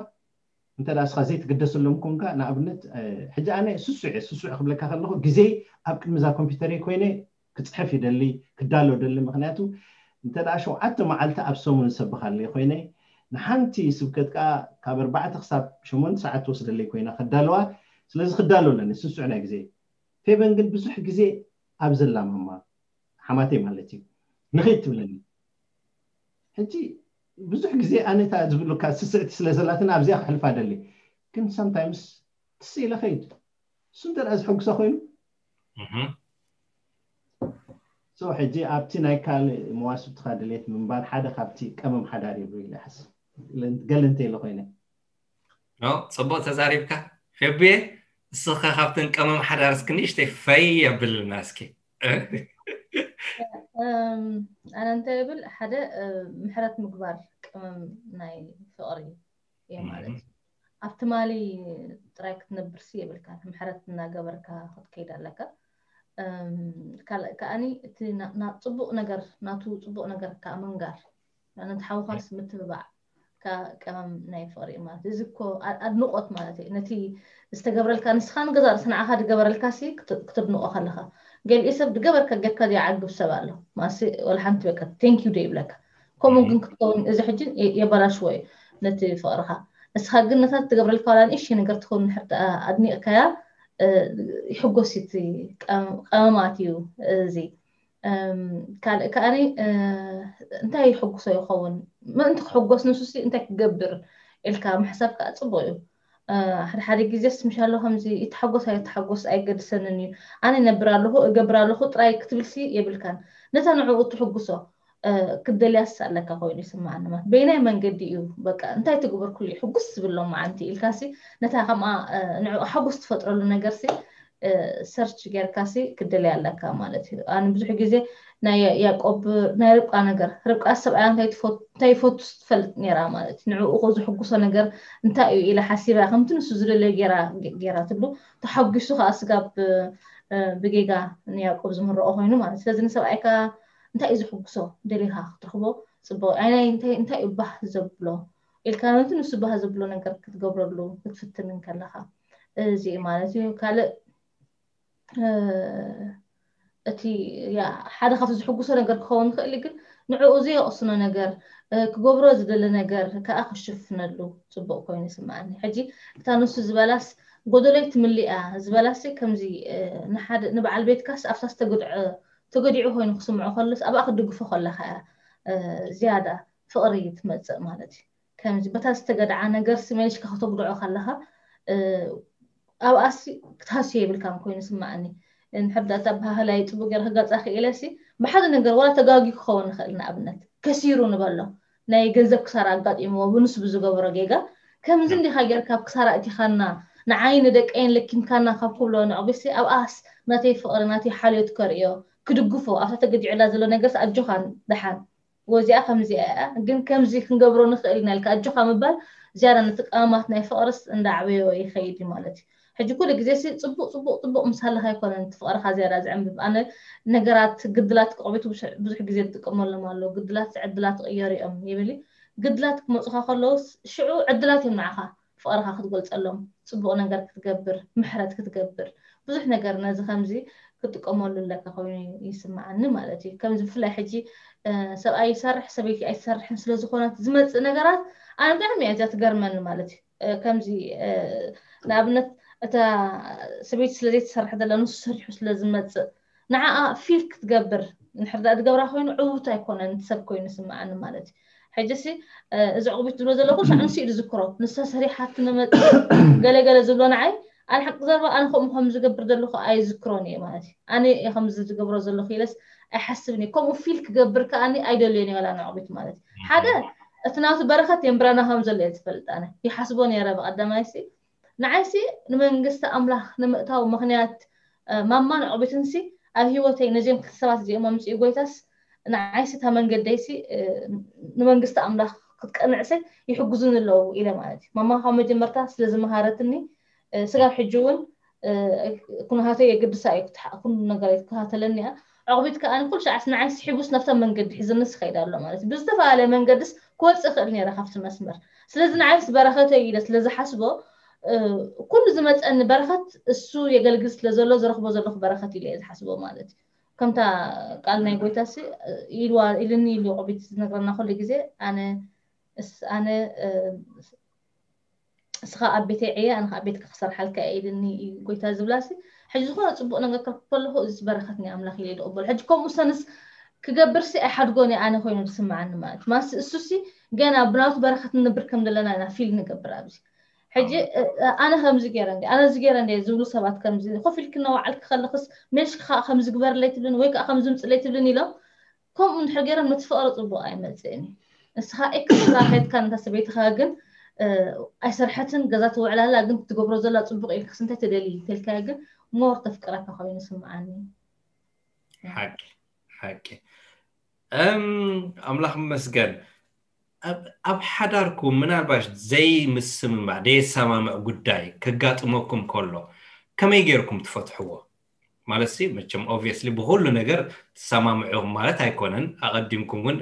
እንተ ደኣ እስኻ ዘይትግደሰሎም ኮንካ ንኣብነት ሕጂ ኣነ ስሱዕ እየ ስሱዕ ክብለካ ከለኹ ግዜ ኣብ ቅድሚ እዛ ኮምፒውተረይ ኮይነ ክፅሕፍ ይደሊ ክዳሎ ደሊ ምክንያቱ እንተ ደኣ ሸውዓተ መዓልቲ ኣብ ሰሙን ዝሰብኻለይ ኮይነ ንሓንቲ ስብከት ከዓ ካብ ኣርባዕተ ክሳብ ሸሞንተ ሰዓት ትወስደለይ ኮይና ከዳለዋ ስለዚ ክዳሎ ኣለኒ ስሱዕ ናይ ግዜ ፌበን ግን ብዙሕ ግዜ ኣብ ዘላማማ ሓማተይ ማለት እዩ ንኸይድ ትብለኒ ሕጂ ብዙሕ ግዜ ኣነታ ዝብሉካ ስስዕቲ ስለ ዘላትን ኣብዚኣ ክሕልፋ ደሊ ግን sometimes ትስ ኢለ ኸይድ እሱ እንተ ዝሐጉሳ ኮይኑ so ሕጂ ኣብቲ ናይ ካልእ መዋስብትኻ ድሌት ምንባር ሓደ ካብቲ ቀመም ሓዳር ይብሉ ኢለ ይሓስብ ገለ እንተ ኢለ ኮይነ ፅቡቅ ተዛሪብካ ፌብየ እስኻ ካብተን ቀመም ሓዳር እስኪ ንእሽተይ ፈይ ኣብልና እስኪ ኣነ እንታይ ይብል ሓደ ምሕረት ምግባር ቀመም ናይ ፍቅሪ እዩ ማለት እዩ ኣብ ትማሊ ጥራይ ክትነብርሲ የብልካ ምሕረት እናገበርካ ክትከይድ ኣለካ ካልእ ከዓኒ እቲ ናብ ፅቡቅ ነገር ናቱ ፅቡቅ ነገር ከዓ ምንጋር ነቲ ሓውኻስ ምትብባዕ ቀመም ናይ ፍቅሪ ማለት እዚ እኮ ኣድንቆት ማለት እዩ ነቲ ዝተገብረልካ ንስኻ ንገዛ ርእሲ ንዓኻ ዝገበረልካ ሲ ክትድንቆ ከለኻ ገሊኡ ሰብ ዝገበርካ ጌርካ ዘይዓግብ ሰብ ኣሎ ማሲ ወላ ሓንቲ በቃ thank you ዘይብለካ ከምኡ ግን ክትከውን እዚ ሕጂ የበላሽዎ እዩ ነቲ ፍቅርኻ እስኻ ግን ነታ ትገብረልካ ዋላ ንእሽተይ ነገር ትኸውን ንሕር ኣድኒቅካያ ይሕጎስ እቲ ቀመማት እዩ። እዚ ካልእ ከዓኒ እንታይ ይሕጉሶ ይኸውን፣ ምእንቲ ክሕጎስ ንሱሲ እንታይ ክገብር ኢልካ ምሕሳብ ከዓ ፅቡቅ እዩ። ሓደ ሓደ ግዜስ ምሻሎ ከምዚ ይተሓጎስ ኣይተሓጎስ ኣይገድሰንን እዩ፣ ኣነ ይነብር ኣለኹ እገብር ኣለኹ ጥራይ ክትብልሲ የብልካን። ነታ ንዕኡ ትሕጉሶ ክትደልያስ ኣለካ ኮይኑ ይስማዓኒ። ማለት በይናይ መንገዲ እዩ፣ በቃ እንታይ ትግበር ኩሉ ሕጉስ ዝብሎ መዓንቲ ኢልካሲ ነታ ከምኣ ንዕኡ ሓጎስ ትፈጥረሉ ነገርሲ ሰርች ጌርካሲ ክትደልያ ኣለካ ማለት እዩ። ኣነ ብዙሕ ግዜ ናይ ያዕቆብ ናይ ርብቃ ነገር፣ ርብቃ ሰብኣያ እንታይ ይፈቱ ትፈልጥ ነይራ ማለት እዩ። ንዕኡ ዘሕጉሶ ነገር እንታይ እዩ ኢላ ሓሲባ ከምቲ ንሱ ዝደለዮ ጌራ ጌራትሉ፣ ተሓጒሱ ከዓ ስጋብ ብጌጋ ንያዕቆብ ዝምረኦ ኮይኑ ማለት እዩ። ስለዚ ንሰብኣይካ እንታይ እዩ ዝሕጉሶ ደሊኻ ክትረኽቦ ፅቡቅ። ኣይ ናይ እንታይ እንታይ እዩ ባህ ዘብሎ ኢልካ ነቲ ንሱ ባህ ዘብሎ ነገር ክትገብረሉ ክትፍትን እንከለኻ እዚ እዩ ማለት እዩ። ካልእ እቲ ሓደ ካብቲ ዝሕጉሶ ነገር ክኸውን ይኽእል እዩ፣ ግን ንዕኡ ዘየቕስኖ ነገር ክገብሮ ዝደሊ ነገር ከዓ ክሽፍነሉ ፅቡቅ ኮይኑ ይስምዓኒ። ሕጂ እታ ንሱ ዝበላስ ጎደሎይ ትምሊኣ ዝበላሲ ከምዚ ንሓደ ንበዓል ቤትካስ ኣብታ ዝተገድዐ ተገዲዑ ኮይኑ ክስምዖ ከሎስ ኣብኣ ክትድግፎ ከለካ እያ ዝያዳ ፍቕሪ ትመፅእ ማለት እዩ። ከምዚ በታ ዝተገድዓ ነገርሲ መሊሽካ ከተጉድዖ ከለካ ኣብኣሲ ክትሃስዮ የብልካን ኮይኑ ስማዕኒ። እንድሕር ዳኣ እታ ኣበሃህላይ ፅቡቅ ገይረ ክገልፃ ክኢለሲ ብሓደ ነገር ዋላ ተጋጊ ክኸውን ንኽእል፣ ንኣብነት ከሲሩ ንበሎ ናይ ገንዘብ ክሳራ ኣጋጢምዎ ብንሱ ብዝገበሮ ጌጋ ከምዚ እንዲኻ ጌርካ ኣብ ክሳራ እቲኻና ንዓይ ንደቀይን ለኪምካና ካብ ክብሎ ንዕጉሲ ኣብኣስ ናተይ ፍቕሪ ናተይ ሓልዮት ከርእዮ ክድግፎ ኣብታ ተገዲዑላ ዘሎ ነገርስ ኣጆኻ ደሓን ወዚኣ ከምዚኣ እያ ግን ከምዚ ክንገብሮ ንኽእል ኢና ኢልካ ኣጆኻ ምባል ዝያዳ ነቲ ቀመማት ናይ ፍቕርስ እንዳዓበዮ ይኸይድ እዩ ማለት እዩ። ሕጂ ኩሉ ግዜ ሲ ፅቡቅ ፅቡቅ ፅቡቅ ምስ ሃለካ ኣይኮነን እቲ ፍቅርካ ዝያዳ ዝዕንብብ። ኣነ ነገራት ግድላት ቆቢት ብዙሕ ግዜ ዝጥቀመሎም ኣለዉ። ግድላት ዕድላት ይቅየሩ እዮም ይብል እዩ። ግድላት ክመፁካ ከለውስ ሽዑ ዕድላት እዮም ንዓካ ፍቅርካ ክትገልፀሎም፣ ፅቡቅ ነገር ክትገብር፣ ምሕረት ክትገብር፣ ብዙሕ ነገር ነዚ ከምዚ ክትጥቀመሉ ኣለካ ኮይኑ ይስምዓኒ ማለት እዩ። ከምዚ ብፍላይ ሕጂ ሰብኣይ ይሰርሕ ሰበይቲ ኣይትሰርሕን ስለዝኮነት ዝመፅእ ነገራት ኣነ ብጣዕሚ እያ እዚኣ ትገርመኒ ማለት እዩ። ከምዚ ንኣብነት እታ ሰበይቲ ስለ ዘይትሰርሕ ዘላ ንሱ ሰሪሑ ስለ ዝመፅእ ንዓኣ ፊል ክትገብር እንድሕር ዳኣ ዝገብራ ኮይኑ ዕውት ኣይኮነን እቲ ሰብ ኮይኑ ይስምዓኒ ማለት እዩ። ሕጂ ሲ እዚ ዕቑቢት ዝብሎ ዘለኹ ንሱ ኢሉ ዝዝክሮ ንሳ ሰሪሓ ትመፅእ ገለገለ ዝብሎ ንዓይ ኣነ ሓቂ ዘረባ ኣነ ከምኡ ከም ዝገብር ዘለኹ ኣይዝክሮን እየ ማለት እዩ። ኣነ እየ ከምዚ ዝገብሮ ዘለኹ ኢለስ ኣይሓስብን እየ። ከምኡ ፊል ክገብር ከኣኒ ኣይደልዮን እየ ዋላ ንዕቑቢት ማለት እዩ። ሓደ እቲ ናቱ በረኸት የንብረና ከም ዘሎ እየ ዝፈልጥ። ኣነ ይሓስቦ ነይረ ብቐዳማይሲ ንዓይሲ ንመንግስቲ ኣምላኽ ንምእታው ምኽንያት ማማን ዕቑቢትንሲ ኣብ ህይወተይ ነዚኦም ክልተ ሰባት እዚኦም ኣምፅኡ ጎይታስ ንዓይሲ እታ መንገደይሲ ንመንግስቲ ኣምላኽ ክትቀንዕሰ ይሕግዙኒ ኣለዉ ኢለ ማለት እዩ። ማማ ካብ መጀመርታ ስለ ዝመሃረትኒ ስጋብ ሕጂ እውን ኩነታተይ የገድሳ እዩ። ኩሉ ነገር ይከታተለኒ እያ። ዕቑቢት ከኣ ኩሉ ሻዕስ ንዓይስ ሒቡስ ናብታ መንገዲ ሒዝንስ ይኸይድ ኣሎ ማለት እዩ። ብዝተፈላለየ መንገድስ ክወፅእ ይኽእል ነይረ ካብቲ መስመር። ስለዚ ንዓይስ በረኸተይ ኢለ ስለ ዝሓስቦ ኩሉ ዝመፀኒ በረኸት እሱ የገልግል ስለ ዘሎ ዝረኽቦ ዘለኹ በረኸት ኢለ እየ ዝሓስቦ ማለት እዩ። ከምታ ቃል ናይ ጎይታሲ ኢልዋ ኢልኒ ኢሉ ዕቑቢት ዝነግረና ኩሉ ግዜ ኣነ ኣነ እስኻ ኣብ ቤተይ ዕየ ኣነ ኣብ ቤትካ ክሰርሓልካ እየ ኢልኒ እዩ ጎይታ ዝብላሲ ሕጂ ዝኾነ ፅቡቅ ነገር ክረክብ ከለኹ እዚ በረከት ናይ ኣምላኽ ኢለ ይደቕበሉ። ሕጂ ከምኡ ሰንስ ክገብርሲ ኣይሓድጎን እየ ኣነ ኮይኑ ዝስምዓኒ ማለት ማሲ እሱሲ ገና ብናቱ በረከት ንነብር ከም ዘለና ኢና ፊል ንገብር ኣብዚ ሕጂ ኣነ ከምዚ ገይረ እንደ ኣነ እዚ ገይረ እንደ ዝብሉ ሰባት ከምዚ ኮፍ ኢልክ እናወዓልክ ከለክስ ሜልሽካ ከምዚ ግበርለይ ትብልን ወይ ከዓ ከምዚ ምፅለይ ትብልን ኢሎም ከምኡ እንድሕር ገይሮም ነቲ ፍቕሪ ፅቡቕ ኣይመፅእን እዩ። ንስኻ ኤክስትራ ከይድካ ነታ ሰበይትኻ ግን ኣይሰርሐትን ገዛ ትውዕላላ ግን ትገብሮ ዘላ ፅቡቕ ኢልክስ እንታይ ትደሊ ተልካያ ግን ሞር ተፍቅረካ ኮይኑ ስምዓኒ። ሓቂ ሓቂ እም ኣምላኽ መስገን ኣብ ሓዳርኩም ምናልባሽ ዘይምስምማዕ ደየሰማምዕ ጉዳይ ከጋጥመኩም ከሎ ከመይ ገይርኩም ትፈትሕዎ? ማለት ሲ መቸም ኦብቪየስሊ ብኩሉ ነገር ትሰማምዑ ማለት ኣይኮነን። ኣቐዲምኩም እውን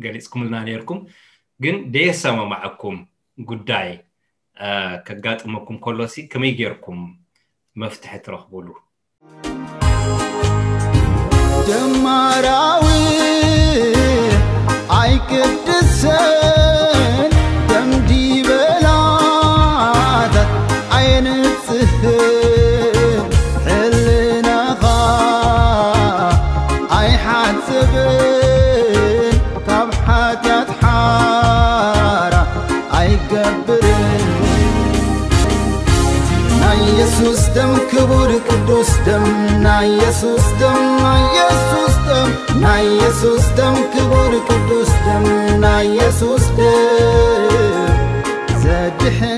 ገሊፅኩምልና ነይርኩም። ግን ደየሰማማዐኩም ጉዳይ ከጋጥመኩም ከሎ ሲ ከመይ ገይርኩም መፍትሒ ትረኽቡሉ? ጀማራዊ ኣይቅድሰን ደምዲበላታት ኣየንጽህን የሱስ ደም ክቡር ቅዱስ ደም ናይ የሱስ ደም ናይ የሱስ ደም ናይ የሱስ ደም ክቡር ቅዱስ ደም ናይ የሱስ ደም ዘድሕን